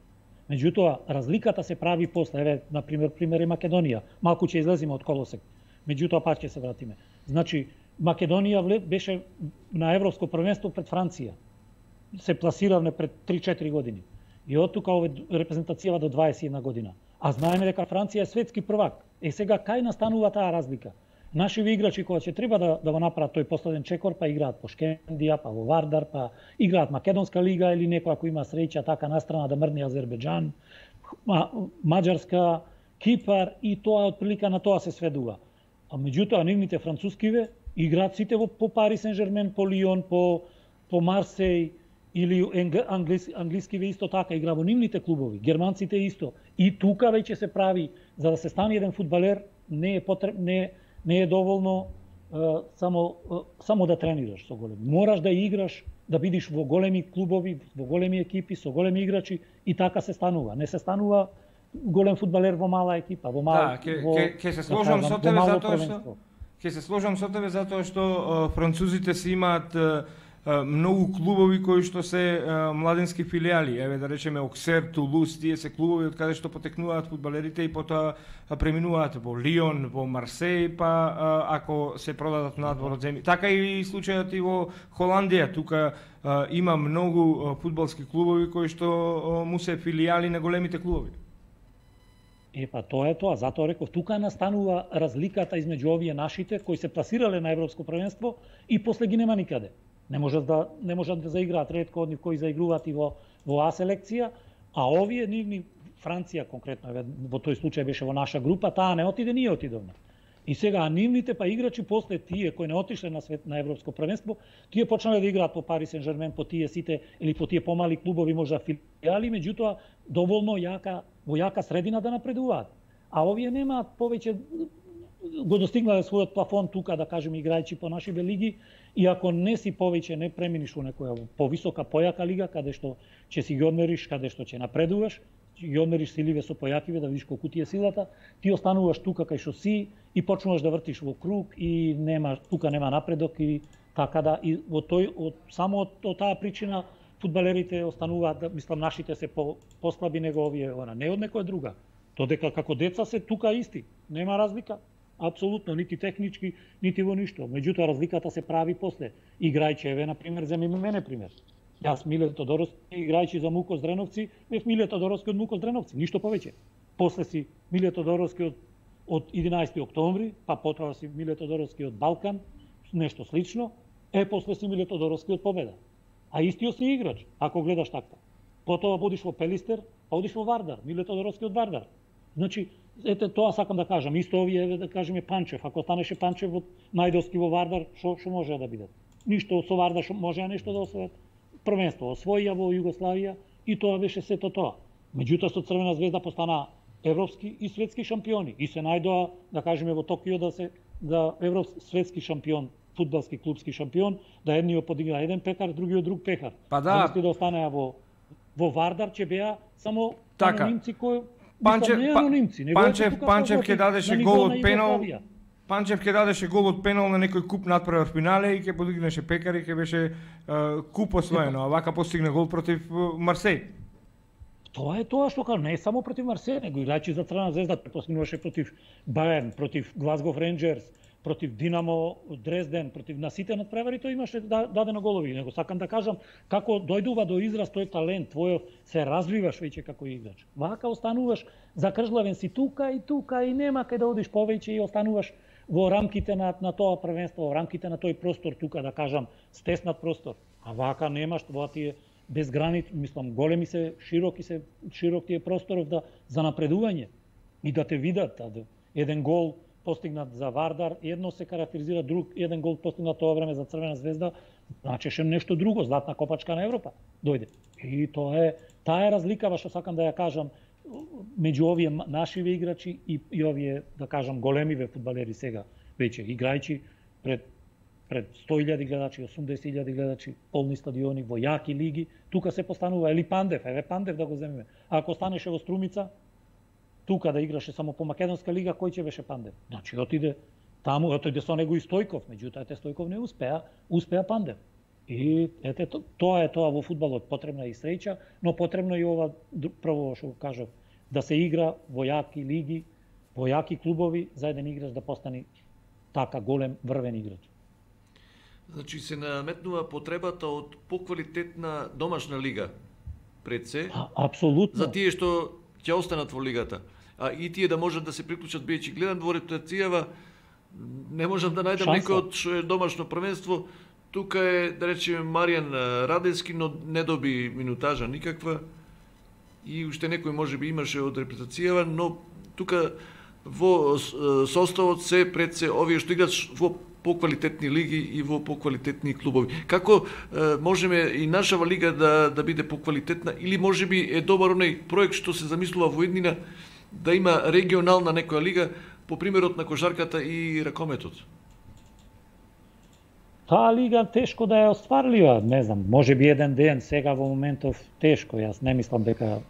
Меѓутоа, разликата се прави после, еве, на пример, пример е Македонија. Малку ќе излеземе од колосек. Меѓутоа, пак ќе се вратиме. Значи, Македонија беше на европско првенство пред Франција. Се пласиравме пред три-четири години. И од тука ове репрезентацијава до дваесет и една година. А знаеме дека Франција е светски првак. Е сега кај настанува таа разлика? Нашиви играчи кога ќе треба да, да го направат тој последен чекор, па играат по Шкендија, па во Вардар, па играат Македонска лига или некој ако има среќа така настрана да мрне Азербеџан, Маđарска, Кипар и тоа од прилика на тоа се сведува. А меѓутоа нивните францускиве Играат сите во по Пари Сен-Жермен, по Лион, по по Марсеј или англиски, англискиве исто така игра во нивните клубови, германците исто. И тука веќе се прави за да се стане еден фудбалер не е потреб, не не е доволно uh, само uh, само да тренираш со големи. Мораш да играш, да бидиш во големи клубови, во големи екипи со големи играчи и така се станува. Не се станува голем фудбалер во мала екипа, во мала. Да, ке, ке, ке се сложам да, со тебе затоа што ќе се сложам со тебе затоа што uh, французите си имаат uh, многу клубови кои што се а, младински филијали, еве да речеме Оксер, Тулус, тие се клубови од каде што потекнуваат фудбалерите и потоа преминуваат во Лион, во Марсеј, па а, ако се продадат надвор од земји. Така и случајот и во Холандија, тука а, има многу фудбалски клубови кои што а, му се филијали на големите клубови. Е, па тоа е тоа, затоа реков, тука настанува разликата измеѓу овие нашите кои се пласирале на европско првенство и после ги нема никаде. Не можат да не можат да заиграат, ретко од нив кои заигруваат и во во А селекција, а овие нивни Франција конкретно во тој случај беше во наша група, таа не отиде, ние отидовме. И сега нивните па играчи после тие кои не отишле на свет на европско првенство, тие почнале да играат по Пари Сен-Жермен, по тие сите или по тие помали клубови, можда филијали, меѓутоа доволно јака во јака средина да напредуваат. А овие немаат повеќе го достигнале својот плафон тука, да кажеме, играјќи по нашите лиги, и ако не си повеќе не преминиш во некоја повисока, појака лига, каде што ќе си ги одмериш, каде што ќе напредуваш, ќе ги одмериш силиве со појакиве, да видиш колку ти е силата, ти остануваш тука кај што си и почнуваш да вртиш во круг и нема тука нема напредок и така да и во тој од само од, од таа причина фудбалерите остануваат, да, мислам нашите се по послаби него овие, она не од некоја друга. Додека како деца се тука исти, нема разлика. Апсолутно, нити технички, нити во ништо. Меѓутоа разликата се прави после. Играјќи, еве на пример, земи мене пример. Јас Миле Тодоровски, играјќи за Мукос Дреновци, бев Миле Тодоровски од Мукос Дреновци, ништо повеќе. После си Миле Тодоровски од од единаесети октомври, па потоа си Миле Тодоровски од Балкан, нешто слично, е после си Миле Тодоровски од Победа. А истиот си играч, ако гледаш така. Потоа одиш во Пелистер, па одиш во Вардар, Миле Тодоровски од Вардар. Значи, ете тоа сакам да кажам, исто овие да кажеме Панчев, ако станеше Панчев во Најдовски во Вардар, што што може да бидат? Ништо со Вардар што може нешто да освојат. Првенство освоија во Југославија и тоа беше сето тоа. Меѓутоа со Црвена звезда постана европски и светски шампиони и се најдоа да кажеме во Токио да се да европски светски шампион, фудбалски клубски шампион, да едниот подигна еден пекар, другиот друг пекар. Па да, да останеа во во Вардар ќе беа само така. анонимци кои Панчев, не анонимци, Панчев, Панчев ќе дадеше гол од пенал. Панчев ќе дадеше гол од пенал на некој куп надпревар финале и ќе подигнеше пекар и ќе беше uh, куп освоено, а вака постигна гол против uh, Марсеј. Тоа е тоа што кажа, не е само против Марсеј, него играјќи за Црвена звезда, постигнуваше против Баерн, против Глазгов Ренџерс, против Динамо Дрезден, против на сите надпревари, тој имаше дадено голови. Него сакам да кажам како дојдува до израз тој талент твојот, се развиваш веќе како играч. Вака остануваш закржлавен си тука и тука и нема кај да одиш повеќе и остануваш во рамките на на тоа првенство, во рамките на тој простор тука, да кажам, стеснат простор. А вака немаш, тоа ти е без граници, мислам, големи се, широки се, широк ти е просторов да за напредување и да те видат, да, еден гол постигнат за Вардар, едно се карактеризира, друг еден гол постигнат тоа време за Црвена звезда, значеше нешто друго, златна копачка на Европа дојде. И тоа е таа е разликава што сакам да ја кажам меѓу овие нашиве играчи и, и овие, да кажам, големиве фудбалери сега веќе играјќи пред пред сто илјади гледачи, осумдесет илјади гледачи, полни стадиони во јаки лиги, тука се постанува или Пандев, еве Пандев да го земеме. А ако станеше во Струмица, тука да играше само по македонска лига, кој ќе беше Пандев? Значи отиде таму, отиде со него и Стојков, меѓутоа ете Стојков не успеа, успеа Пандев. И ете тоа е тоа во фудбалот, потребна е и среќа, но потребно и ова прво што кажав, да се игра во јаки лиги, во јаки клубови за еден играч да постане така голем врвен играч. Значи се наметнува потребата од поквалитетна домашна лига пред се. А, апсолутно. За тие што ќе останат во лигата. А и тие да можат да се приклучат, бидејќи гледам во репутацијава, не можам да најдам некој од што е домашно првенство. Тука е, да речеме, Маријан Радевски, но не доби минутажа никаква. И уште некој можеби имаше од репутацијава, но тука во составот се пред се овие што играат во поквалитетни лиги и во поквалитетни клубови. Како е, можеме и нашава лига да да биде поквалитетна, или можеби е добар оној проект што се замислува во еднина да има регионална некоја лига по примерот на кошарката и ракометот? Таа лига тешко да ја остварлива, не знам, може би еден ден, сега во моментов тешко, јас не мислам дека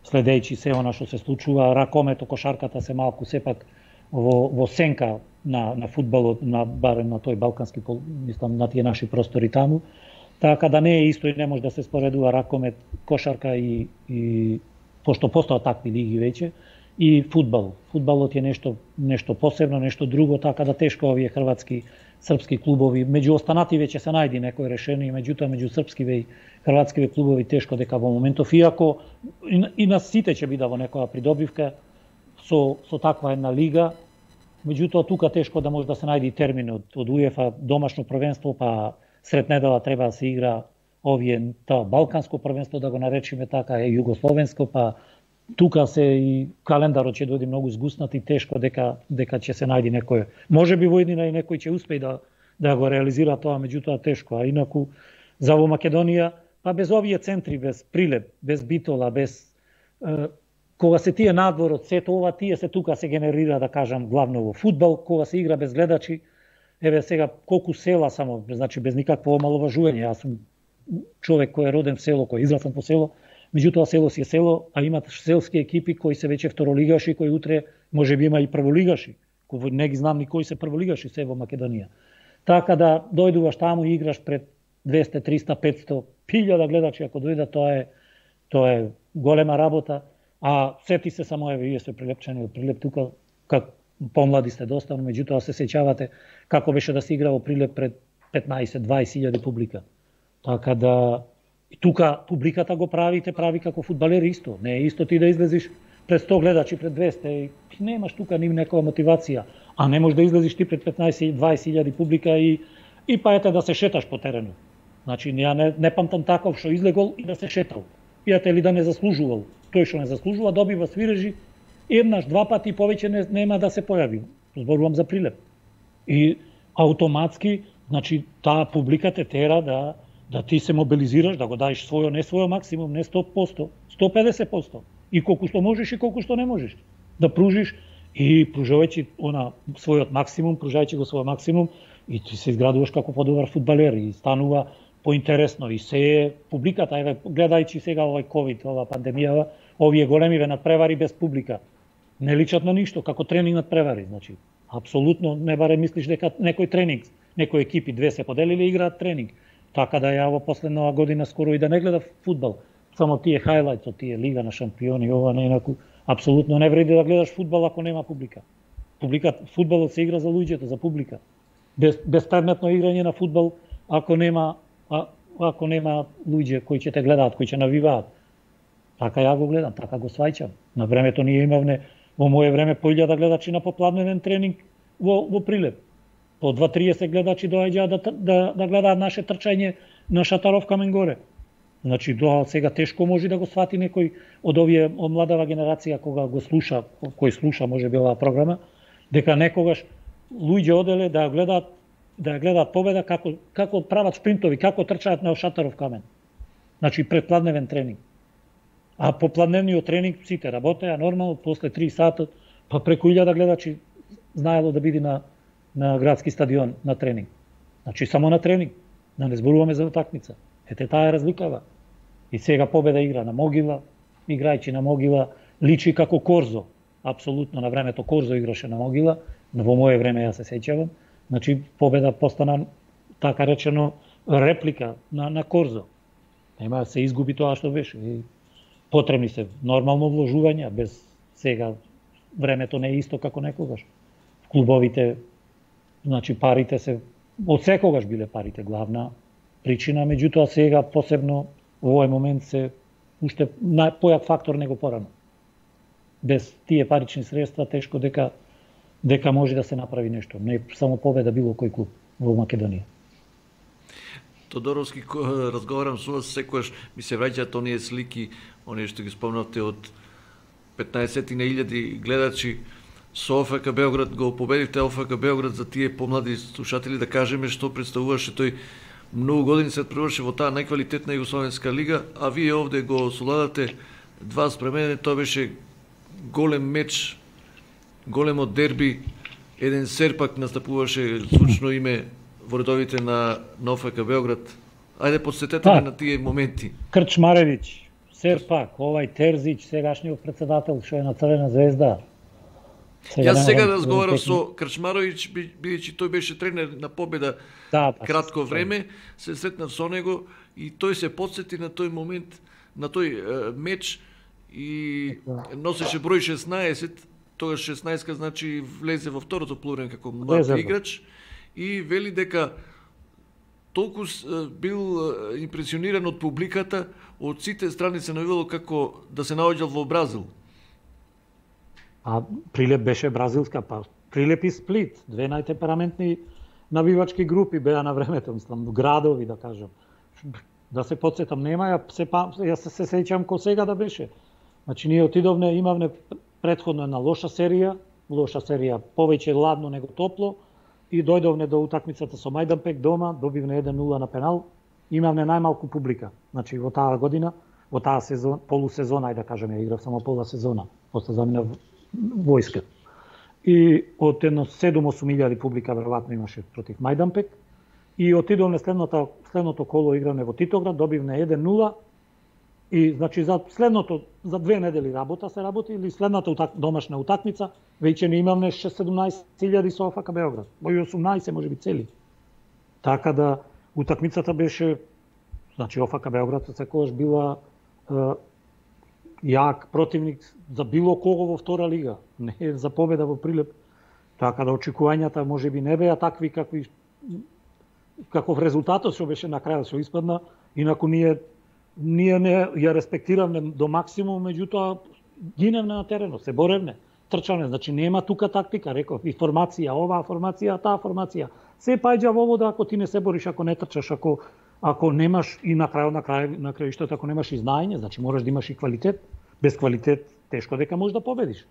следејќи се она што се случува, ракомето, кошарката се малку сепак во, во сенка на, на фудбалот, на, барем на тој балкански, мислам, на тие наши простори таму, така да не е исто и не може да се споредува ракомет, кошарка и, и пошто постојат такви лиги веќе, и фудбал. Фудбалот е нешто, нешто посебно, нешто друго, така да тешко овие хрватски српски клубови, меѓу останати веќе се најди некој решение, меѓутоа меѓу српскиве и хрватскиве клубови тешко дека во моментов, иако и, и на сите ќе биде во некоја придобивка со, со таква една лига, меѓутоа тука тешко да може да се најди термин од, од УЕФА, домашно првенство, па сред недела треба да се игра овие, тоа балканско првенство, да го наречиме така, е југословенско, па тука се и календарот ќе дојде многу згуснат и тешко дека дека ќе се најди некој. Може би во еднина и некој ќе успее да да го реализира тоа, меѓутоа тешко. А инаку за во Македонија, па без овие центри, без Прилеп, без Битола, без е, кога се тие надвор од сето ова, тие се тука се генерира, да кажам, главно во фудбал, кога се игра без гледачи. Еве сега колку села само, значи без никакво омаловажување. Јас сум човек кој е роден в село, кој израснал по село. Меѓутоа село си е село, а имат селски екипи кои се веќе второлигаши, кои утре може би има и прволигаши. Кои не ги знам ни кои се прволигаши се во Македонија. Така да дојдуваш таму и играш пред двесте, триста, петсто, илјада гледачи, ако дојдат, тоа е тоа е голема работа. А сети се само, еве, вие сте прилепчени од Прилеп тука, как помлади сте доста, но меѓутоа се сеќавате како беше да се игра во Прилеп пред петнаесет, дваесет илјади публика. Така да и тука публиката го правите, прави како фудбалери исто. Не е исто ти да излезиш пред сто гледачи, пред двесте, и немаш тука ни некоја мотивација. А не можеш да излезиш ти пред петнаесет, дваесет илјади публика и и па ете да се шеташ по теренот. Значи, ја не, не памтам таков што излегол и да се шетал. Пијате ли да не заслужувал. Тој што не заслужува, добива свирежи, еднаш, два пати повеќе не, нема да се појави. Зборувам за Прилеп. И автоматски, значи, таа публика те тера да да ти се мобилизираш, да го даеш својо, не својо максимум, не сто проценти, сто и педесет проценти. И колку што можеш и колку што не можеш. Да пружиш и пружувајќи она својот максимум, пружајќи го својот максимум, и ти се изградуваш како подобар фудбалер и станува поинтересно и се е публиката, еве гледајќи сега овој ковид, ова пандемија, овие големи надпревари без публика не личат на ништо, како тренинг надпревари, значи апсолутно не баре мислиш дека некој тренинг, некои екипи две се поделили и играат тренинг. Така да ја во последнава година скоро и да не гледав фудбал, само тие хајлајт од тие Лига на шампиони, ова не инаку апсолутно не вреди да гледаш фудбал ако нема публика. Публика, фудбалот се игра за луѓето, за публика. Без безпредметно играње на фудбал ако нема а, ако нема луѓе кои ќе те гледаат, кои ќе навиваат. Така ја го гледам, така го сваќам. На времето ние имавме во моје време по илјада гледачи на попладневен тренинг во во Прилеп. По два триесет гледачи доаѓаа да, да, да гледаат наше трчање на Шатаров камен горе. Значи, до сега тешко може да го свати некој од овие од младава генерација кога го слуша, кој слуша може би оваа програма, дека некогаш луѓе оделе да гледаат да гледаат победа како како прават спринтови, како трчаат на Шатаров камен. Значи предпладневен тренинг. А по пладневниот тренинг сите работеа нормално, после три сата, па преку илјада гледачи знаело да биде на на градски стадион на тренинг. Значи само на тренинг, да не зборуваме за утакмица. Ете таа е разликава. И сега победа игра на Могила, играјќи на Могила, личи како Корзо. Апсолутно на времето Корзо играше на Могила, но во моје време јас се сеќавам. Значи победа постана така речено реплика на на Корзо. Нема се изгуби тоа што беше. И потребни се нормално вложувања, без сега времето не е исто како некогаш. Клубовите, значи парите се од секогаш биле парите главна причина, меѓутоа сега посебно во овој момент се уште појак фактор него порано. Без тие парични средства тешко дека дека може да се направи нешто. Не само победа било кој клуб во Македонија. Тодоровски, разговарам со вас, секојаш ми се враќаат оние слики, оние што ги спомнавте од петнаесет на илјади гледачи со О Ф К Београд го победивте О Ф К Београд, за тие помлади слушатели да кажеме што представуваше тој многу години се преврши во таа најквалитетна југословенска лига, а вие овде го соладате два спремене, тоа беше голем меч, големо дерби, еден серпак настапуваше звучно име во редовите на, на О Ф К Београд. Ајде подсетете ме на тие моменти. Крчмаревич, серпак, овај Терзич, сегашниот председател што е на Црвена звезда. Сега Јас сега разговарав со Крчмаровиќ, бидејќи тој беше тренер на Победа да, да, кратко време, се сретнав со него и тој се подсети на тој момент, на тој е, меч и да. Носеше број шеснаесет, тогаш шеснаесет значи влезе во второто полувреме како млад играч и вели дека толку бил импресиониран од публиката, од сите страни се најавило како да се наоѓал во Бразил. А Прилеп беше бразилска, па Прилеп и Сплит, две најтемпераментни навивачки групи беа на времето, мислам, градови да кажам. Да се подсетам, нема ја се јас се, се сеќам ко сега да беше. Значи ние отидовме, имавме претходно една лоша серија, лоша серија, повеќе ладно него топло и дојдовме до утакмицата со Мајданпек дома, добивме еден нула на пенал, имавме најмалку публика. Значи во таа година, во таа сезон, полусезона, ајде да кажеме, ја играв само пола сезона, после заминав војска. И од едно седум-осум илјади публика веројатно имаше против Мајданпек и отидовме следното следното коло играме во Титоград, добивме еден нула и значи за следното за две недели работа се работи или следната утак, домашна утакмица веќе не имавме шест-седумнаесет илјади со О Ф К Београд, во осумнаесет можеби цели. Така да утакмицата беше, значи О Ф К Београд секогаш била е, јак противник за било кого во втора лига, не за победа во Прилеп. Така да очекувањата можеби не беа такви какви каков резултатот што беше на крајот што испадна, инаку ние ние не ја респектиравме до максимум, меѓутоа гиневме на теренот, се боревме, трчаме, значи нема тука тактика, реков, и формација, оваа формација, таа формација. Се паѓа во вода ако ти не се бориш, ако не трчаш, ако ако немаш и на крај на крај на крајштето ако немаш и знаење, значи мораш да имаш и квалитет. Без квалитет тешко дека можеш да победиш.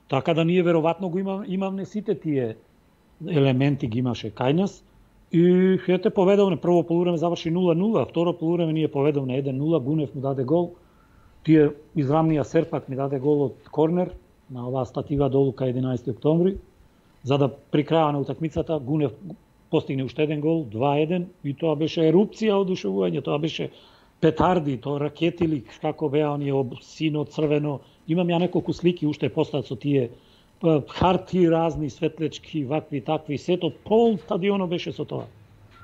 Така да ние веројатно го имам, имавме сите тие елементи ги имаше кај нас и ете поведовме, прво полувреме заврши нула нула, второ полувреме ние поведовме еден нула, Гунев му даде гол. Тие израмнија Серпак ми даде гол од корнер на оваа статива долу кај единаесети октомври. За да при крајот на утакмицата Гунев постигне уште еден гол, два еден и тоа беше ерупција од одушевување, тоа беше петарди, тоа ракетили, како беа оние сино, црвено. Имам ја неколку слики уште постат со тие харти разни, светлечки, вакви, такви, сето, пол стадионот беше со тоа.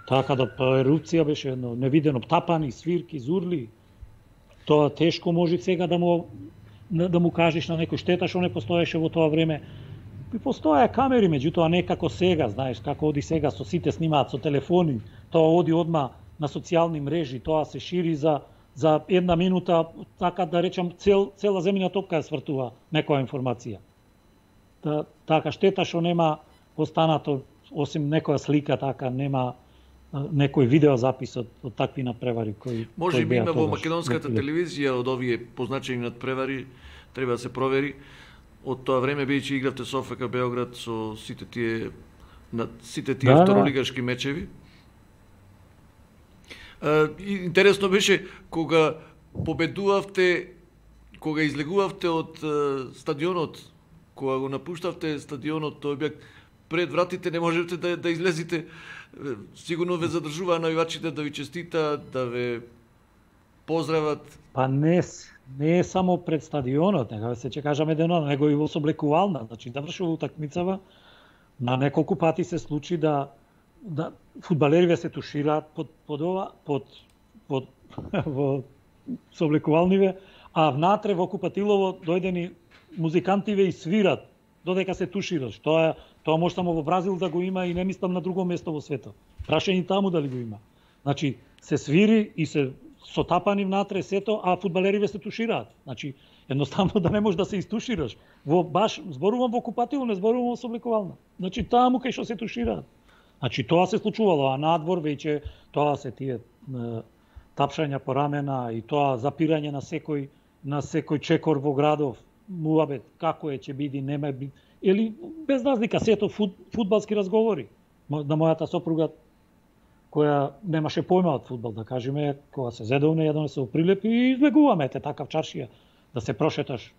Така да ерупција беше едно невидено, тапани, свирки, зурли. Тоа тешко може сега да му да му кажеш на некој штета што не постоеше во тоа време. И постоја камери, меѓутоа не како сега, знаеш, како оди сега со сите снимаат со телефони, тоа оди одма на социјални мрежи, тоа се шири за за една минута, така да речам, цел цела земјина топка ја свртува некоја информација. Та, така штета што нема останато осим некоја слика, така нема некој видеозапис од, од такви надпревари кои може би има во македонската телевизија од овие позначени надпревари, треба да се провери. Од тоа време бидејќи игравте со О Ф К Београд со сите тие на сите тие да, второлигашки мечеви. Uh, интересно беше кога победувавте, кога излегувавте од uh, стадионот, кога го напуштавте стадионот, тој беа пред вратите, не можете да, да излезете. Сигурно ве задржуваа навивачите да ви честитаат, да ве поздрават. Па не, не е само пред стадионот, нека се че кажаме дено, него и во соблекувална. Значи, завршува утакмицава, на неколку пати се случи да да фудбалериве се тушираат под под ова, под под во соблекувалниве, а внатре во купатилово дојдени музикантиве и свират додека се тушираш. Тоа тоа може само во Бразил да го има и не мислам на друго место во светот. Прашање таму дали го има. Значи се свири и се сотапани внатре сето, а фудбалериве се тушираат. Значи едноставно да не можеш да се истушираш. Во баш зборувам во купатило, не зборувам во соблекувална. Значи таму кај што се тушираат. Значи тоа се случувало, а надвор веќе тоа се тие е, тапшања по рамена и тоа запирање на секој на секој чекор во градов. муабет, како е, ќе биде, нема би, или без разлика, сето фут, фудбалски разговори. На мојата сопруга, која немаше појма од фудбал, да кажеме, кога се зедовне, едно се оприлепи и излегуваме те така в чаршија, да се прошеташ.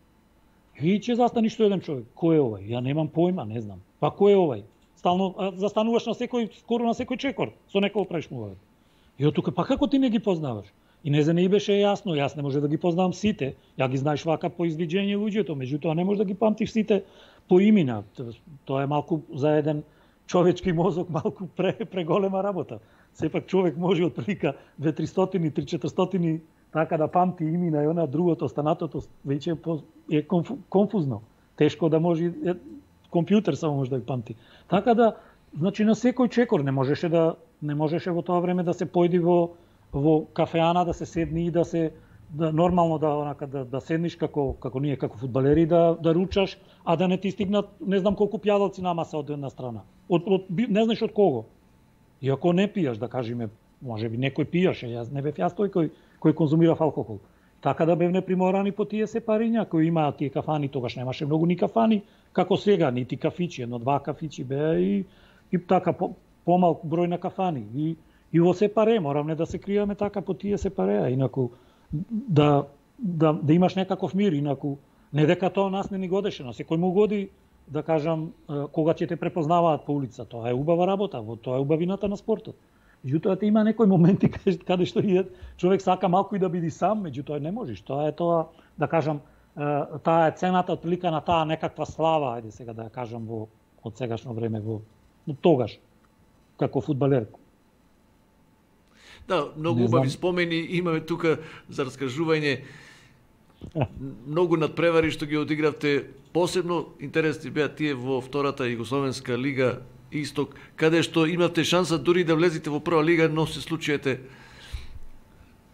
И ќе застани што еден човек. Кој е овај? Ја немам појма, не знам. Па кој е овај? Стално застануваш на секој, скоро на секој чекор, со некој правиш муабет. И од тука, па како ти не ги познаваш? И не за не беше јасно, јас не може да ги познавам сите. Ја ги знаеш вака по извиđење луѓето, меѓутоа не може да ги памтиш сите по имена. Тоа е малку за еден човечки мозок малку пре, преголема работа. Сепак човек може од прилика две триста, три четиристотини така да памти имена и она другото, останатото веќе е конфузно. Тешко да може компјутер само може да ги памти. Така да, значи на секој чекор не можеше да не можеше во тоа време да се појди во во кафеана, да се седни и да се да нормално да онака да, да седниш како како ние како фудбалери да да ручаш, а да не ти стигнат не знам колку пијалаци на маса од една страна. Од, од не знаеш од кого. И ако не пијаш, да кажеме, можеби некој пијаше, јас не бев јас тој кој кој конзумирав алкохол. Така да бевме приморани по тие сепариња кои имаат тие кафани, тогаш немаше многу ни кафани, како сега, нити кафичи, едно два кафичи беа и и така по, помал број на кафани. И и во сепаре моравме да се криеме така по тие сепареа, инаку да да да имаш некаков мир, инаку не дека тоа нас не ни годеше, но секој му годи да кажам кога ќе те препознаваат по улица, тоа е убава работа, во тоа е убавината на спортот. Меѓутоа има некои моменти каде, каде што и човек сака малку и да биде сам, меѓутоа не можеш. Тоа е тоа, да кажам, таа е цената од прилика на таа некаква слава, ајде сега да ја кажам во од сегашно време во но тогаш како фудбалер. Да, многу убави спомени имаме тука за раскажување. Многу надпревари што ги одигравте, посебно интересни беа тие во втората Југословенска лига Исток, каде што имате шанса дури да влезете во прва лига, но се случиете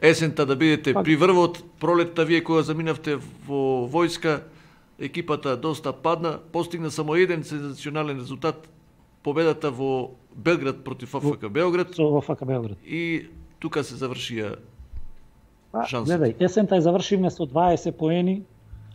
есента да бидете при врвот, пролетта вие кога заминавте во војска, екипата доста падна, постигна само еден сензационален резултат, победата во Белград против ОФК Београд. Со ОФК Београд. И тука се завршија шансот. Гледај, есента ја завршивме со дваесет поени,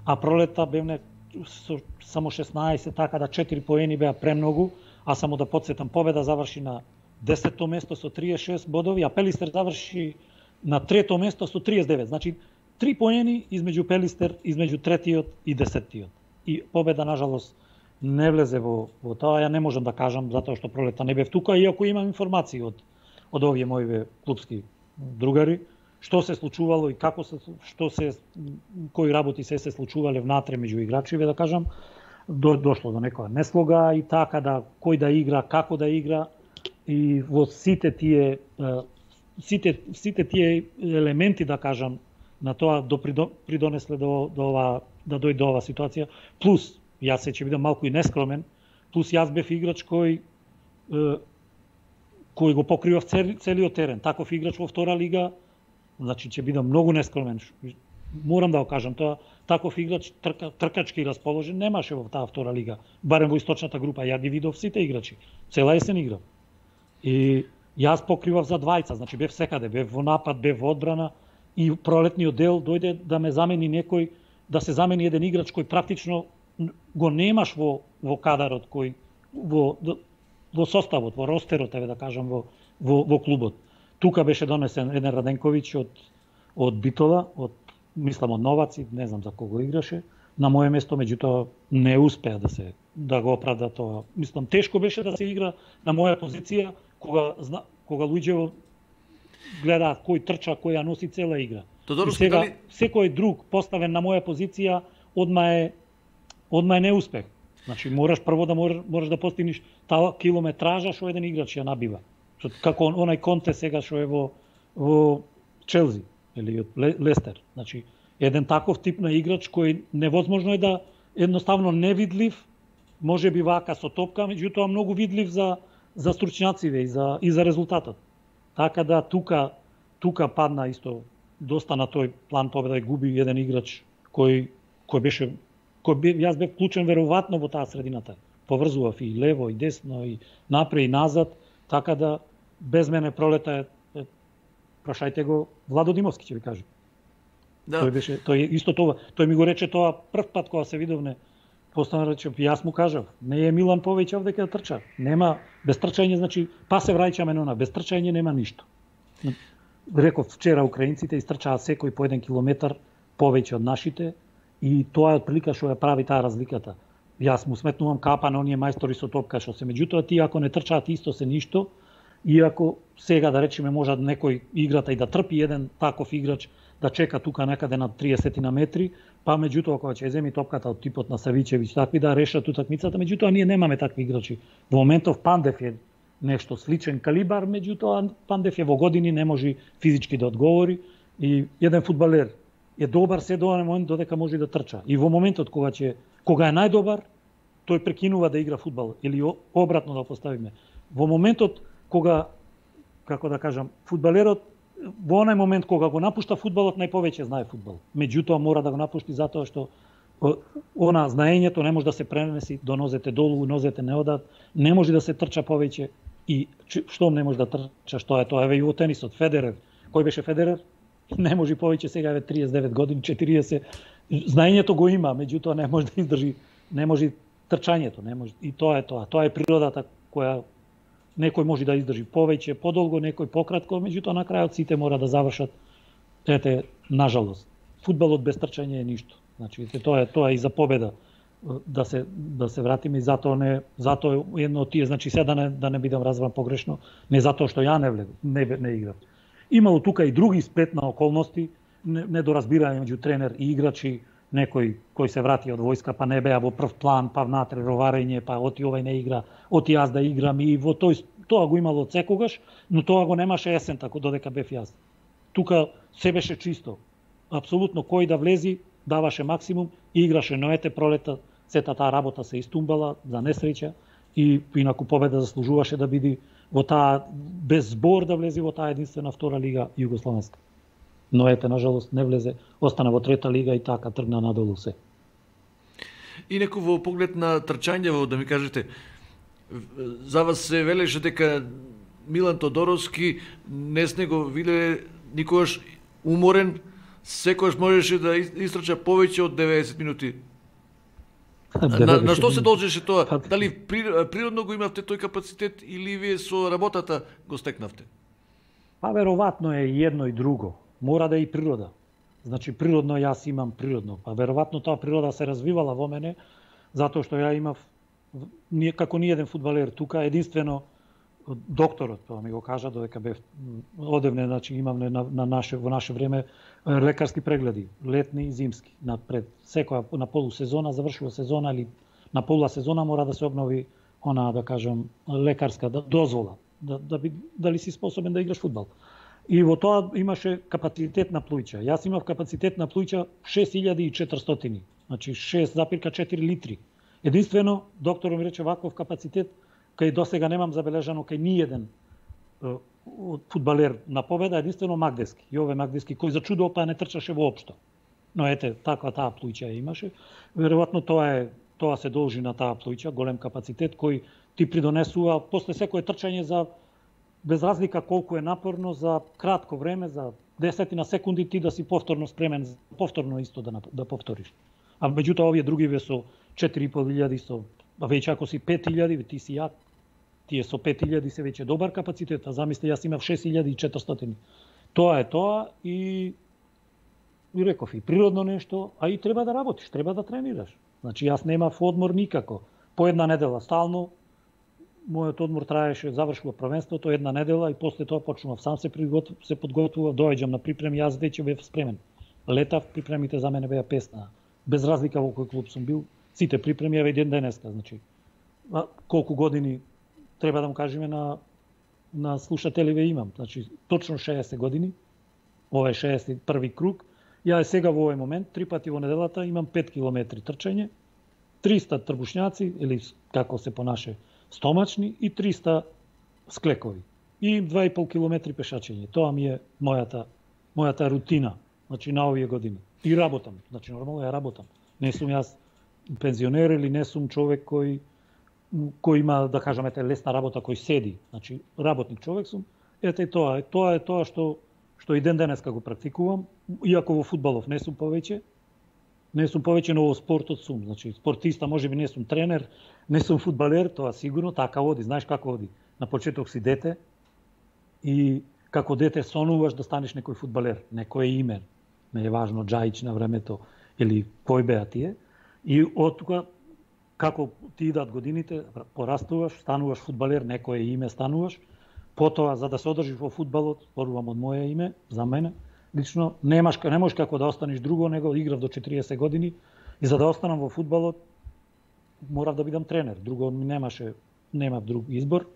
а пролетта бевме со само шеснаесет, така да четири поени беа премногу, а само да подсетам, победа заврши на десетто место со триесет и шест бодови, а Пелистер заврши на трето место со триесет и девет. Значи, три поени измеѓу Пелистер, измеѓу третиот и десеттиот. И победа, нажалост, не влезе во, во тоа, ја не можам да кажам, затоа што пролета не бев тука, иако имам информации од, од овие мои клубски другари, што се случувало и како се, што се, кои работи се се случувале внатре меѓу играчиве, да кажам, до, дошло до некоја неслога и така да кој да игра, како да игра и во сите тие сите сите тие елементи, да кажам, на тоа до придонесле до до ова да дојде ова ситуација. Плюс јас се ќе бидам малку и нескромен, плюс јас бев играч кој кој го покривав цел, целиот терен. Таков играч во втора лига, значи ќе бидам многу нескромен. Морам да го кажам тоа, таков играч трка, тркачки расположен немаше во таа втора лига, барем во источната група. Ја ги видов сите играчи, цела есен играв. И јас покривав за двајца, значи бев секаде, бев во напад, бев во одбрана и пролетниот дел дојде да ме замени некој, да се замени еден играч кој практично го немаш во во кадарот, кој во во составот, во ростерот, еве да кажам, во во, во клубот. Тука беше донесен еден Раденковиќ од од Битола, од мислам од Новаци, не знам за кого играше, на моје место, меѓутоа не успеа да се да го оправда тоа. Мислам тешко беше да се игра на моја позиција кога зна, кога луѓе гледаат кој трча, кој ја носи цела игра. Тодоров, и сега дали... секој друг поставен на моја позиција одма е одма е неуспех. Значи мораш прво да мораш, мораш да постигнеш таа километража што еден играч ја набива. Што како онај Конте сега што е во во Челси или од Лестер. Значи еден таков тип на играч кој невозможно е да едноставно невидлив, може би вака со топка, меѓутоа многу видлив за за стручњаците и за и за резултатот. Така да тука тука падна исто доста на тој план победа и губи еден играч кој кој беше кој би, јас бев вклучен веројатно во таа средината. Поврзував и лево и десно и напред и назад, така да без мене пролета е, е прашајте го Владо Димовски ќе ви каже. Да. Тој беше, тој исто тоа, тој ми го рече тоа прв пат кога се видовме. Постана рече, јас му кажав, не е Милан повеќе овде ќе да трча. Нема без трчање, значи па се враќаме на она, без трчање нема ништо. Реков вчера украинците истрчаат секој по еден километар повеќе од нашите и тоа е отприлика што ја прави таа разликата. Јас му сметнувам капа на оние мајстори со топка што се, меѓутоа тие ако не трчаат исто се ништо, иако сега да речеме може некој играта и да трпи еден таков играч да чека тука некаде на триесет на метри, па меѓутоа кога ќе земи топката од типот на Савичевиќ, такви да решат утакмицата, меѓутоа ние немаме такви играчи. Во моментов Пандев е нешто сличен калибар, меѓутоа Пандев е во години, не може физички да одговори и еден фудбалер е добар се до онен момент додека може да трча. И во моментот кога ќе кога е најдобар, тој прекинува да игра фудбал или обратно да поставиме. Во моментот кога, како да кажам, фудбалерот во онај момент кога го напушта фудбалот, најповеќе знае фудбал. Меѓутоа мора да го напушти затоа што она знаењето не може да се пренеси до нозете долу, нозете не одат, не може да се трча повеќе и што не може да трча, што е тоа, еве и во тенисот Федерер. Кој беше Федерер? Не може повеќе, сега е триесет и девет години, четириесет. Знаењето го има, меѓутоа не може да издржи, не може трчањето, не може. И тоа е тоа. Тоа е природата која некој може да издржи повеќе, подолго, некој пократко, меѓутоа на крајот сите мора да завршат. Ете, нажалост, фудбалот без трчање е ништо. Значи, тоа е тоа е и за победа да се да се вратиме и затоа не затоа едно од тие, значи сега да не да не бидам разбран погрешно, не затоа што ја не влег, не не играв. Имало тука и други сплетна околности, недоразбирање меѓу тренер и играчи, некој кој се врати од војска па не беа во прв план, па внатре роварење, па оти овај не игра, оти јас да играм и во тој тоа го имало од секогаш, но тоа го немаше есен тако додека бев јас. Тука се беше чисто. Апсолутно кој да влези даваше максимум и играше, но ете пролета сета таа работа се истумбала за несреќа и инаку победа заслужуваше да биде во таа без збор да влезе во таа единствена втора лига југословенска. Но ете, нажалост, не влезе, остана во трета лига и така тргна надолу се. И некој во поглед на трчањево, да ми кажете, за вас се велеше дека Милан Тодоровски не сте го виделе никогаш уморен, секогаш можеше да истрча повеќе од деветдесет минути. На, на што се должеше тоа? Дали природно го имавте тој капацитет или вие со работата го стекнавте? Па веројатно е и едно и друго. Мора да е и природа. Значи природно јас имам природно. Па веројатно таа природа се развивала во мене, затоа што ја имав ние како ни еден фудбалер тука, единствено докторот тоа ми го кажа додека бев одевне, значи имавме на, на наше во наше време лекарски прегледи, летни и зимски. На пред секоја на полусезона, завршува сезона или на пола сезона мора да се обнови она, да кажам, лекарска дозвола, да, да би, дали си способен да играш фудбал. И во тоа имаше капацитет на плуќа. Јас имав капацитет на плуќа шест илјади и четиристотини, значи шест запирка четири литри. Единствено, докторот ми рече ваков капацитет, кај досега немам забележано кај ниеден фудбалер на победа, единствено Магдески. Јове Магдески, кој за чудо па не трчаше воопшто. Но ете, таква таа плуќа ја имаше. Веројатно тоа е тоа се должи на таа плуќа, голем капацитет кој ти придонесува после секое трчање за без разлика колку е напорно, за кратко време, за десетина секунди ти да си повторно спремен, повторно исто да да повториш. А меѓутоа овие другиве со четири и пол илјади со, а веќе ако си пет илјади, ти си јак. Тие со пет илјади се веќе добар капацитет, а замисли јас имав шест илјади и четиристотини. Тоа е тоа и и реков и природно нешто, а и треба да работиш, треба да тренираш. Значи јас немав одмор никако. По една недела стално мојот одмор траеше, завршува првенството една недела и после тоа почнував сам се приготв, се подготвував, доаѓам на припреми, јас веќе бев спремен. Летав, припремите за мене беа песна. Без разлика во кој клуб сум бил, сите припреми еве ден денеска, значи. А, колку години треба да му кажеме на на слушателиве имам, значи точно шеесет години. Ова е шеесет и први круг. Ја е сега во овој момент три пати во неделата имам пет километри трчање, триста трбушњаци или како се понаше стомачни и триста склекови. И два и пол километри пешачење. Тоа ми е мојата мојата рутина, значи на овие години. И работам, значи нормално ја работам. Не сум јас пензионер или не сум човек кој кој има, да кажеме, лесна работа, кој седи. Значи работник човек сум. Ете тоа, тоа е тоа што што и ден денеска го практикувам, иако во фудбалов не сум повеќе. Не сум повеќе, но во спортот сум. Значи, спортиста, можеби не сум тренер, не сум фудбалер, тоа сигурно, така оди. Знаеш како оди? На почеток си дете и како дете сонуваш да станеш некој фудбалер, некое име. Не е важно Джаич на времето или кој беа тие. И од тука, како ти идат годините, порастуваш, стануваш фудбалер, некое име стануваш. Потоа, за да се одржиш во фудбалот, зборувам од моје име, за мене, лично, немаш, не можеш како да останеш друго, него играв до четириесет години и за да останам во фудбалот, морав да бидам тренер. Друго ми немаше, немав друг избор.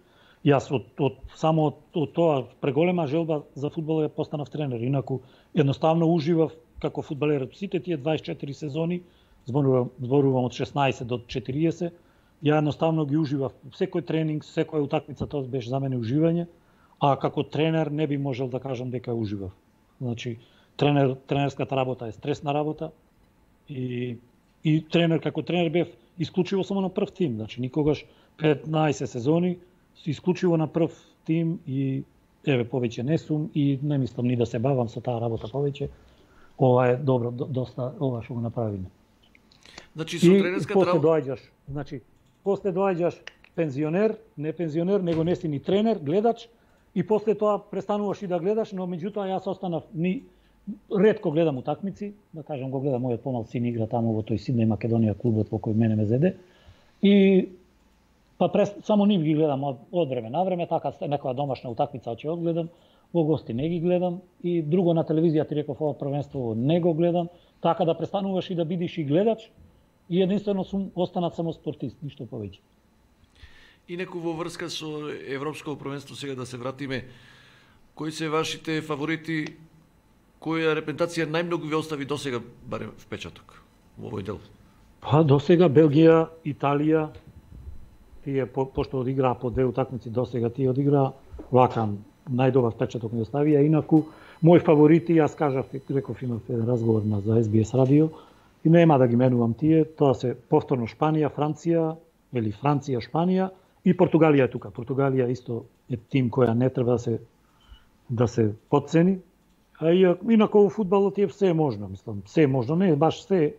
Јас од, од само од, од тоа преголема желба за фудбал ја постанав тренер. Инаку едноставно уживав како фудбалер сите тие дваесет и четири сезони, зборувам, зборувам од шеснаесет до четириесет. Ја едноставно ги уживав. Секој тренинг, секоја утакмица, тоа беше за мене уживање, а како тренер не би можел да кажам дека уживав. Значи, тренер, тренерската работа е стресна работа и, и тренер, како тренер бев исклучиво само на прв тим. Значи, никогаш петнаесет сезони, исклучиво на прв тим и еве повеќе не сум и не мислам ни да се бавам со таа работа повеќе. Ова е добро, доста, ова што го направиме. Значи, со тренерската после работа... доаѓаш, значи, после доаѓаш пензионер, не пензионер, него не си ни тренер, гледач, и после тоа престануваш и да гледаш, но меѓутоа јас останав ни ретко гледам утакмици, да кажам го гледам мојот помал син игра таму во тој Сиднеј Македонија клубот во кој мене ме зеде. И па прес, само нив ги гледам од, од време на време, така некоја домашна утакмица ќе одгледам, во гости не ги гледам и друго на телевизија ти реков ова првенство не го гледам, така да престануваш и да бидиш и гледач и единствено сум останат само спортист, ништо повеќе. И неку во врска со Европско првенство сега да се вратиме, кои се вашите фаворити, која репрезентација најмногу ви остави досега барем впечаток во овој дел? Па досега Белгија, Италија, тие по, пошто одиграа по две утакмици досега, тие одиграа вака најдобар впечаток ми оставија. Инаку мои фаворити, јас кажав, реков имав еден разговор на за Ес Би Ес радио и нема да ги менувам тие, тоа се повторно Шпанија, Франција или Франција, Шпанија и Португалија е тука. Португалија исто е тим која не треба да се да се потцени. А и инаку во фудбалот е се можно, мислам, се можно, не баш се.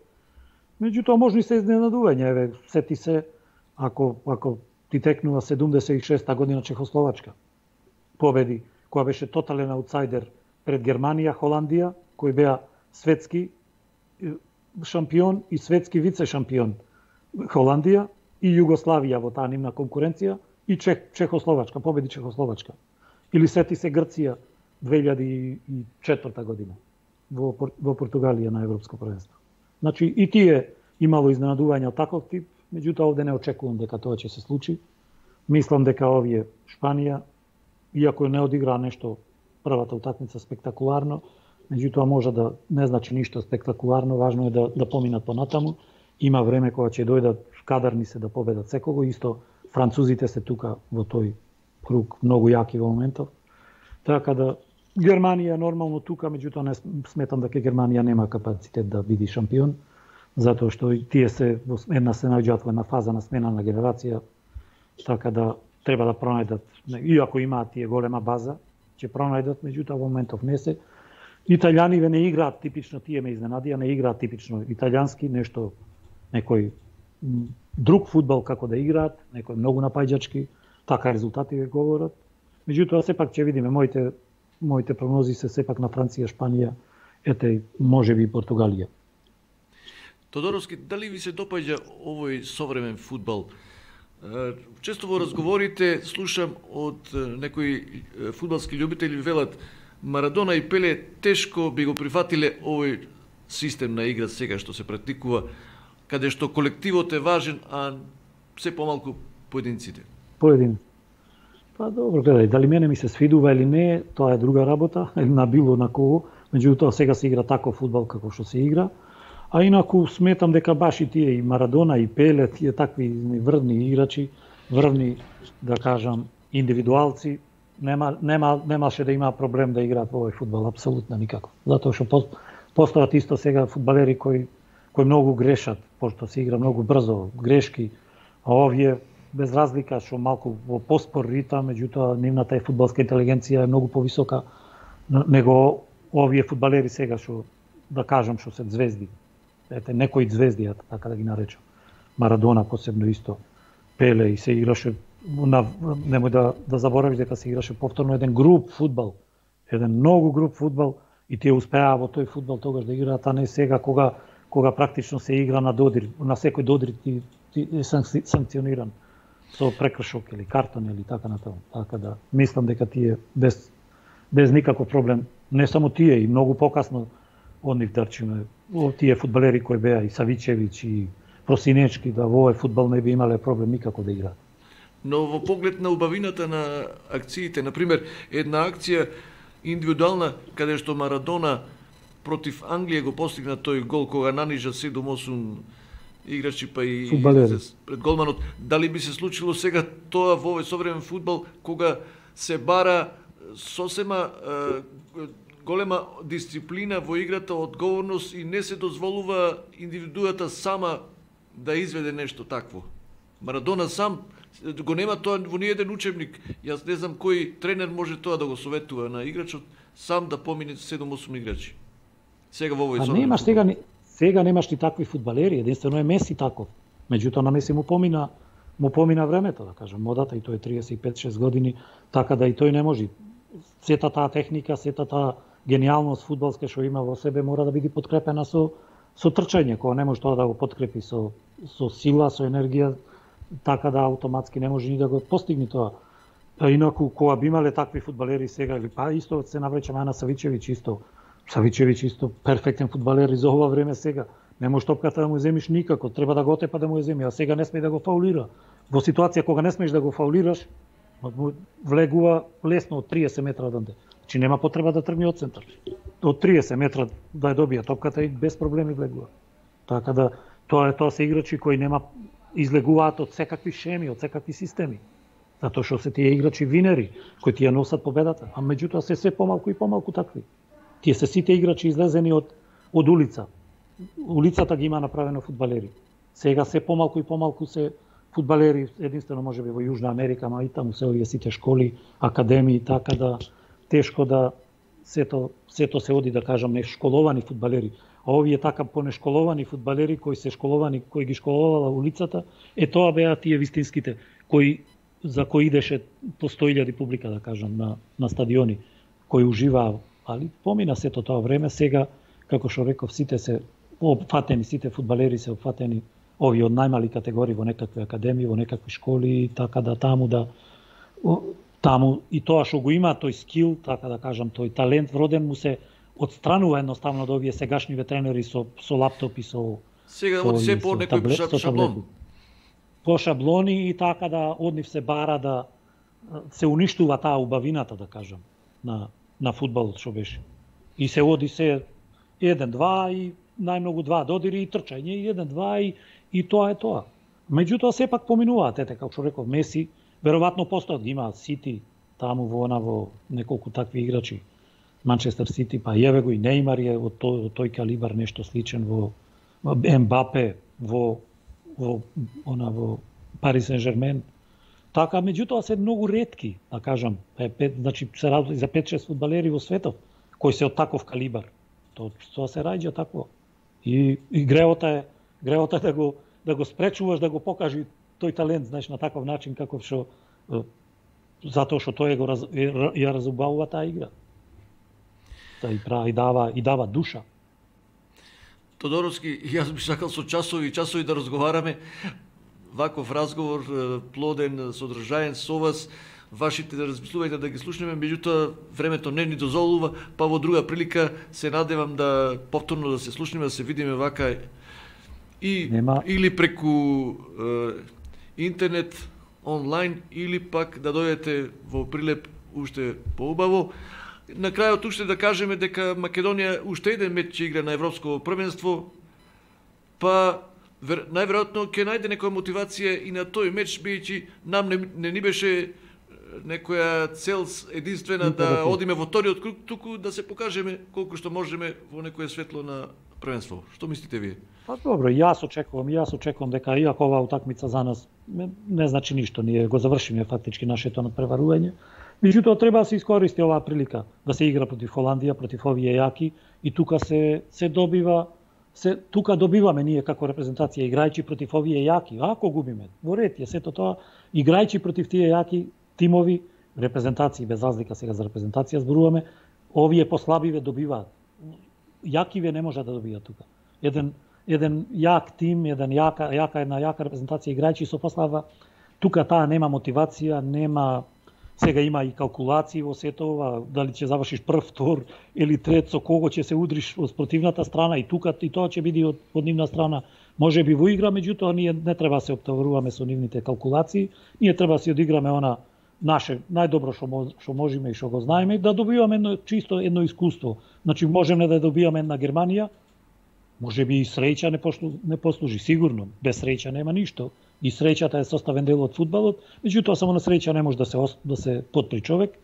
Меѓутоа можно и се изненадување, еве, сети се ако ако ти текнува седумдесет и шеста година Чехословачка. Победи, која беше тотален аутсайдер пред Германија, Холандија, кои беа светски шампион и светски вице шампион. Холандија и Југославија во таа нивна конкуренција и Чех, Чехословачка, победи Чехословачка. Или сети се Грција две илјади и четврта година во, во Португалија на Европско првенство. Значи и тие имало изненадување од таков тип, меѓутоа овде не очекувам дека тоа ќе се случи. Мислам дека овие Шпанија, иако не одигра нешто првата утакмица спектакуларно, меѓутоа може да не значи ништо спектакуларно, важно е да, да поминат понатаму. Има време кога ќе дојдат кадарни се да победат секого, исто французите се тука во тој круг многу јаки во моментов. Така да Германија нормално тука, меѓутоа не сметам дека Германија нема капацитет да биде шампион, затоа што тие се во една се наоѓаат во една фаза на смена на генерација, така да треба да пронајдат, иако имаат тие голема база, ќе пронајдат, меѓутоа во моментов не се. Италијаниве не играат типично, тие ме изненадија, не играат типично италијански, нешто некој друг фудбал како да играат, некој многу напаѓачки, така резултативе говорат. Меѓутоа сепак ќе видиме, моите моите прогнози се сепак на Франција, Шпанија, ете можеби и Португалија. Тодоровски, дали ви се допаѓа овој современ фудбал? Често во разговорите слушам од некои фудбалски љубители велат Марадона и Пеле тешко би го прифатиле овој систем на игра сега што се практикува, каде што колективот е важен, а се помалку поединците. Поедин. Па добро, гледај, дали мене ми се свидува или не, тоа е друга работа, или на било на кого, меѓутоа сега се игра таков фудбал како што се игра. А инаку сметам дека баш и тие и Марадона и Пеле, тие такви врвни играчи, врвни, да кажам, индивидуалци, нема нема немаше да има проблем да играат во овој фудбал, апсолутно никако. Затоа што постојат исто сега фудбалери кои кои многу грешат, пошто се игра многу брзо, грешки, а овие без разлика што малку во поспор ритам, меѓутоа нивната е фудбалска интелигенција е многу повисока него овие фудбалери сега што да кажам што се звезди. Ете некои звезди, така да ги наречам. Марадона посебно исто. Пеле и се играше на, немој да да заборавиш дека се играше повторно еден груп фудбал. Еден многу груп фудбал и тие успеа во тој фудбал тогаш да играат, а не сега кога кога практично се игра на додир, на секој додир ти, ти е санкциониран со прекршок или картон или така натаму. Така да мислам дека тие без без никаков проблем, не само тие и многу покасно од нив дарчиме, тие фудбалери кои беа и Савичевиќ и Просинечки, да во овој фудбал не би имале проблем никако да играат. Но во поглед на убавината на акциите, например, една акција индивидуална каде што Марадона против Англија го постигна тој гол кога нанижа седум-осум играчи па и фудбалери пред голманот, дали би се случило сега тоа во овој современ фудбал кога се бара сосема е, голема дисциплина во играта, одговорност и не се дозволува индивидуата сама да изведе нешто такво. Марадона сам го нема тоа во ниеден учебник. Јас не знам кој тренер може тоа да го советува на играчот сам да помине седум-осум играчи. Сега во овој современ. Немаш сега сега немаш ни такви фудбалери, единствено е Меси таков. Меѓутоа на Меси му помина му помина времето, да кажам, модата и тој е триесет и пет шест години, така да и тој не може. Сета таа техника, сета таа гениалност фудбалска што има во себе мора да биде подкрепена со со трчање, кога не може тоа да го подкрепи со со сила, со енергија, така да автоматски не може ни да го постигне тоа. А инаку кога би имале такви фудбалери сега или па исто се навречаме на Савичевиќ исто. Савичевиќ исто перфектен фудбалер и за ова време сега. Не може топката да му земиш никако, треба да го отепа да му ја земи, а сега не сме да го фаулира. Во ситуација кога не смееш да го фаулираш, влегува лесно од триесет метра одамде. Значи нема потреба да тргне од центар. Од триесет метра да ја добија топката и без проблеми влегува. Така да тоа е тоа се играчи кои нема излегуваат од секакви шеми, од секакви системи. Затоа што се тие играчи винери кои тие носат победата, а меѓутоа се се помалку и помалку такви. Тие се сите играчи излезени од од улица. Улицата ги има направено фудбалери. Сега се помалку и помалку се фудбалери, единствено можеби во Јужна Америка, ама и таму се овие сите школи, академии, така да тешко да сето сето се оди да кажам не школовани фудбалери. А овие така понешколовани фудбалери кои се школовани, кои ги школовала улицата, е тоа беа тие вистинските кои за кои идеше по сто илјади публика да кажам на на стадиони, кои уживаа, али помина сето тоа време, сега како што реков сите се опфатени, сите фудбалери се опфатени, овие од најмали категории во некакви академии, во некакви школи, така да таму да таму и тоа што го има тој скил, така да кажам, тој талент вроден му се отстранува едноставно од овие сегашни тренери со со лаптопи, со сега од се по некој шаблон. По шаблони и така да од нив се бара да се уништува таа убавината, да кажам, на на фудбалот што беше. И се оди се еден два и најмногу два додири и трчање и еден два и и тоа е тоа. Меѓутоа сепак поминуваат, ете како што реков Меси, веројатно постојат ги имаат Сити таму во она во неколку такви играчи. Манчестер Сити, па јеве го и Нејмар е од тој, од тој калибар нешто сличен во, во Ембапе, во во она во Пари Сен-Жермен. Така, меѓутоа се многу ретки, да кажам, е пет, значи се работи за пет шест фудбалери во светот кои се од таков калибар. Тоа, тоа се раѓа такво. И, и греота е греота е да го да го спречуваш да го покажи тој талент, знаеш, на таков начин како што затоа што тој го раз, ја разубавува таа игра. Та и прави и дава и дава душа. Тодоровски, јас би сакал со часови и часови да разговараме. Ваков разговор плоден, содржаен со вас, вашите размислувања да ги слушнеме, меѓутоа времето не ни дозволува, па во друга прилика се надевам да повторно да се слушнеме, да се видиме вака и Нема. Или преку е, интернет, онлайн, или пак да дојдете во Прилеп уште поубаво. На крајот уште да кажеме дека Македонија уште еден меч игра на европско првенство, па вер, најверојатно ќе најде некоја мотивација и на тој меч, бидејќи нам не, не ни беше некоја цел единствена да одиме во вториот круг, туку да се покажеме колку што можеме во некое светло на првенство. Што мислите вие? Па добро, јас очекувам, јас очекувам дека иако оваа утакмица за нас не, не значи ништо, ние го завршиме фактички нашето надпреварување, Меѓутоа треба да се искористи оваа прилика да се игра против Холандија, против овие јаки и тука се се добива се тука добиваме ние како репрезентација играјќи против овие јаки. Ако губиме, во ред е сето тоа, играјќи против тие јаки тимови, репрезентации без разлика сега за репрезентација зборуваме, овие послабиве добиваат. Јакиве не може да добијат тука. Еден еден јак тим, еден јака јака една јака репрезентација играјќи со послаба, тука таа нема мотивација, нема сега има и калкулации во сето ова, дали ќе завршиш прв, втор или трет, со кого ќе се удриш од спротивната страна и тука и тоа ќе биде од, од нивна страна. Може би во игра, меѓутоа ние не треба да се оптоваруваме со нивните калкулации, ние треба да си одиграме она наше најдобро што што можеме и што го знаеме, да добиваме едно чисто едно искуство. Значи можеме да добијаме една Германија, може би и среќа не, пошлу, не послужи, сигурно, без среќа нема ништо. И среќата е составен дел од фудбалот, меѓутоа само на среќа не може да се да се потпри човек.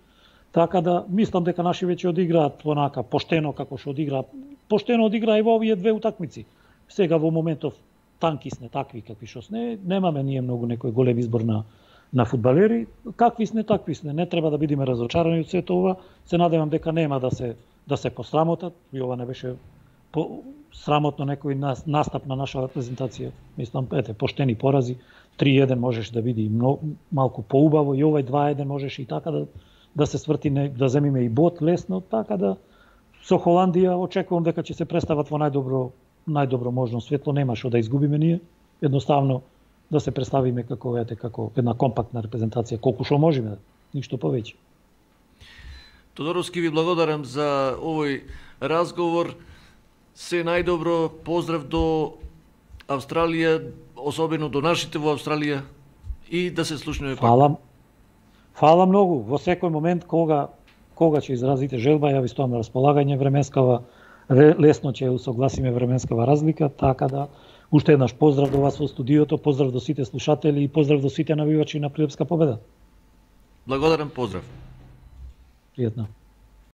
Така да мислам дека наши веќе одиграат онака поштено како што одигра, поштено одигра и во овие две утакмици. Сега во моментов танки сне такви какви што сне, немаме ние многу некој голем избор на на фудбалери, какви сне такви сне, не треба да бидеме разочарани од сето ова. Се надевам дека нема да се да се посрамотат, и ова не беше по срамотно некој настап на наша репрезентација. Мислам, ете, поштени порази, три еден можеш да биде многу малку поубаво и овај два еден можеш и така да да се сврти, да земиме и бот лесно, така да со Холандија очекувам дека ќе се представат во најдобро најдобро можно светло, нема што да изгубиме ние, едноставно да се представиме како ете како една компактна репрезентација, колку што можеме, ништо повеќе. Тодоровски, ви благодарам за овој разговор. Се најдобро, поздрав до Австралија, особено до нашите во Австралија, и да се слушнеме пак. Фала. Фала многу. Во секој момент кога кога ќе изразите желба, ја ви стоам на располагање, временскава лесно ќе усогласиме временскава разлика, така да уште еднаш поздрав до вас во студиото, поздрав до сите слушатели и поздрав до сите навивачи на Прилепска победа. Благодарам, поздрав. Пријатно.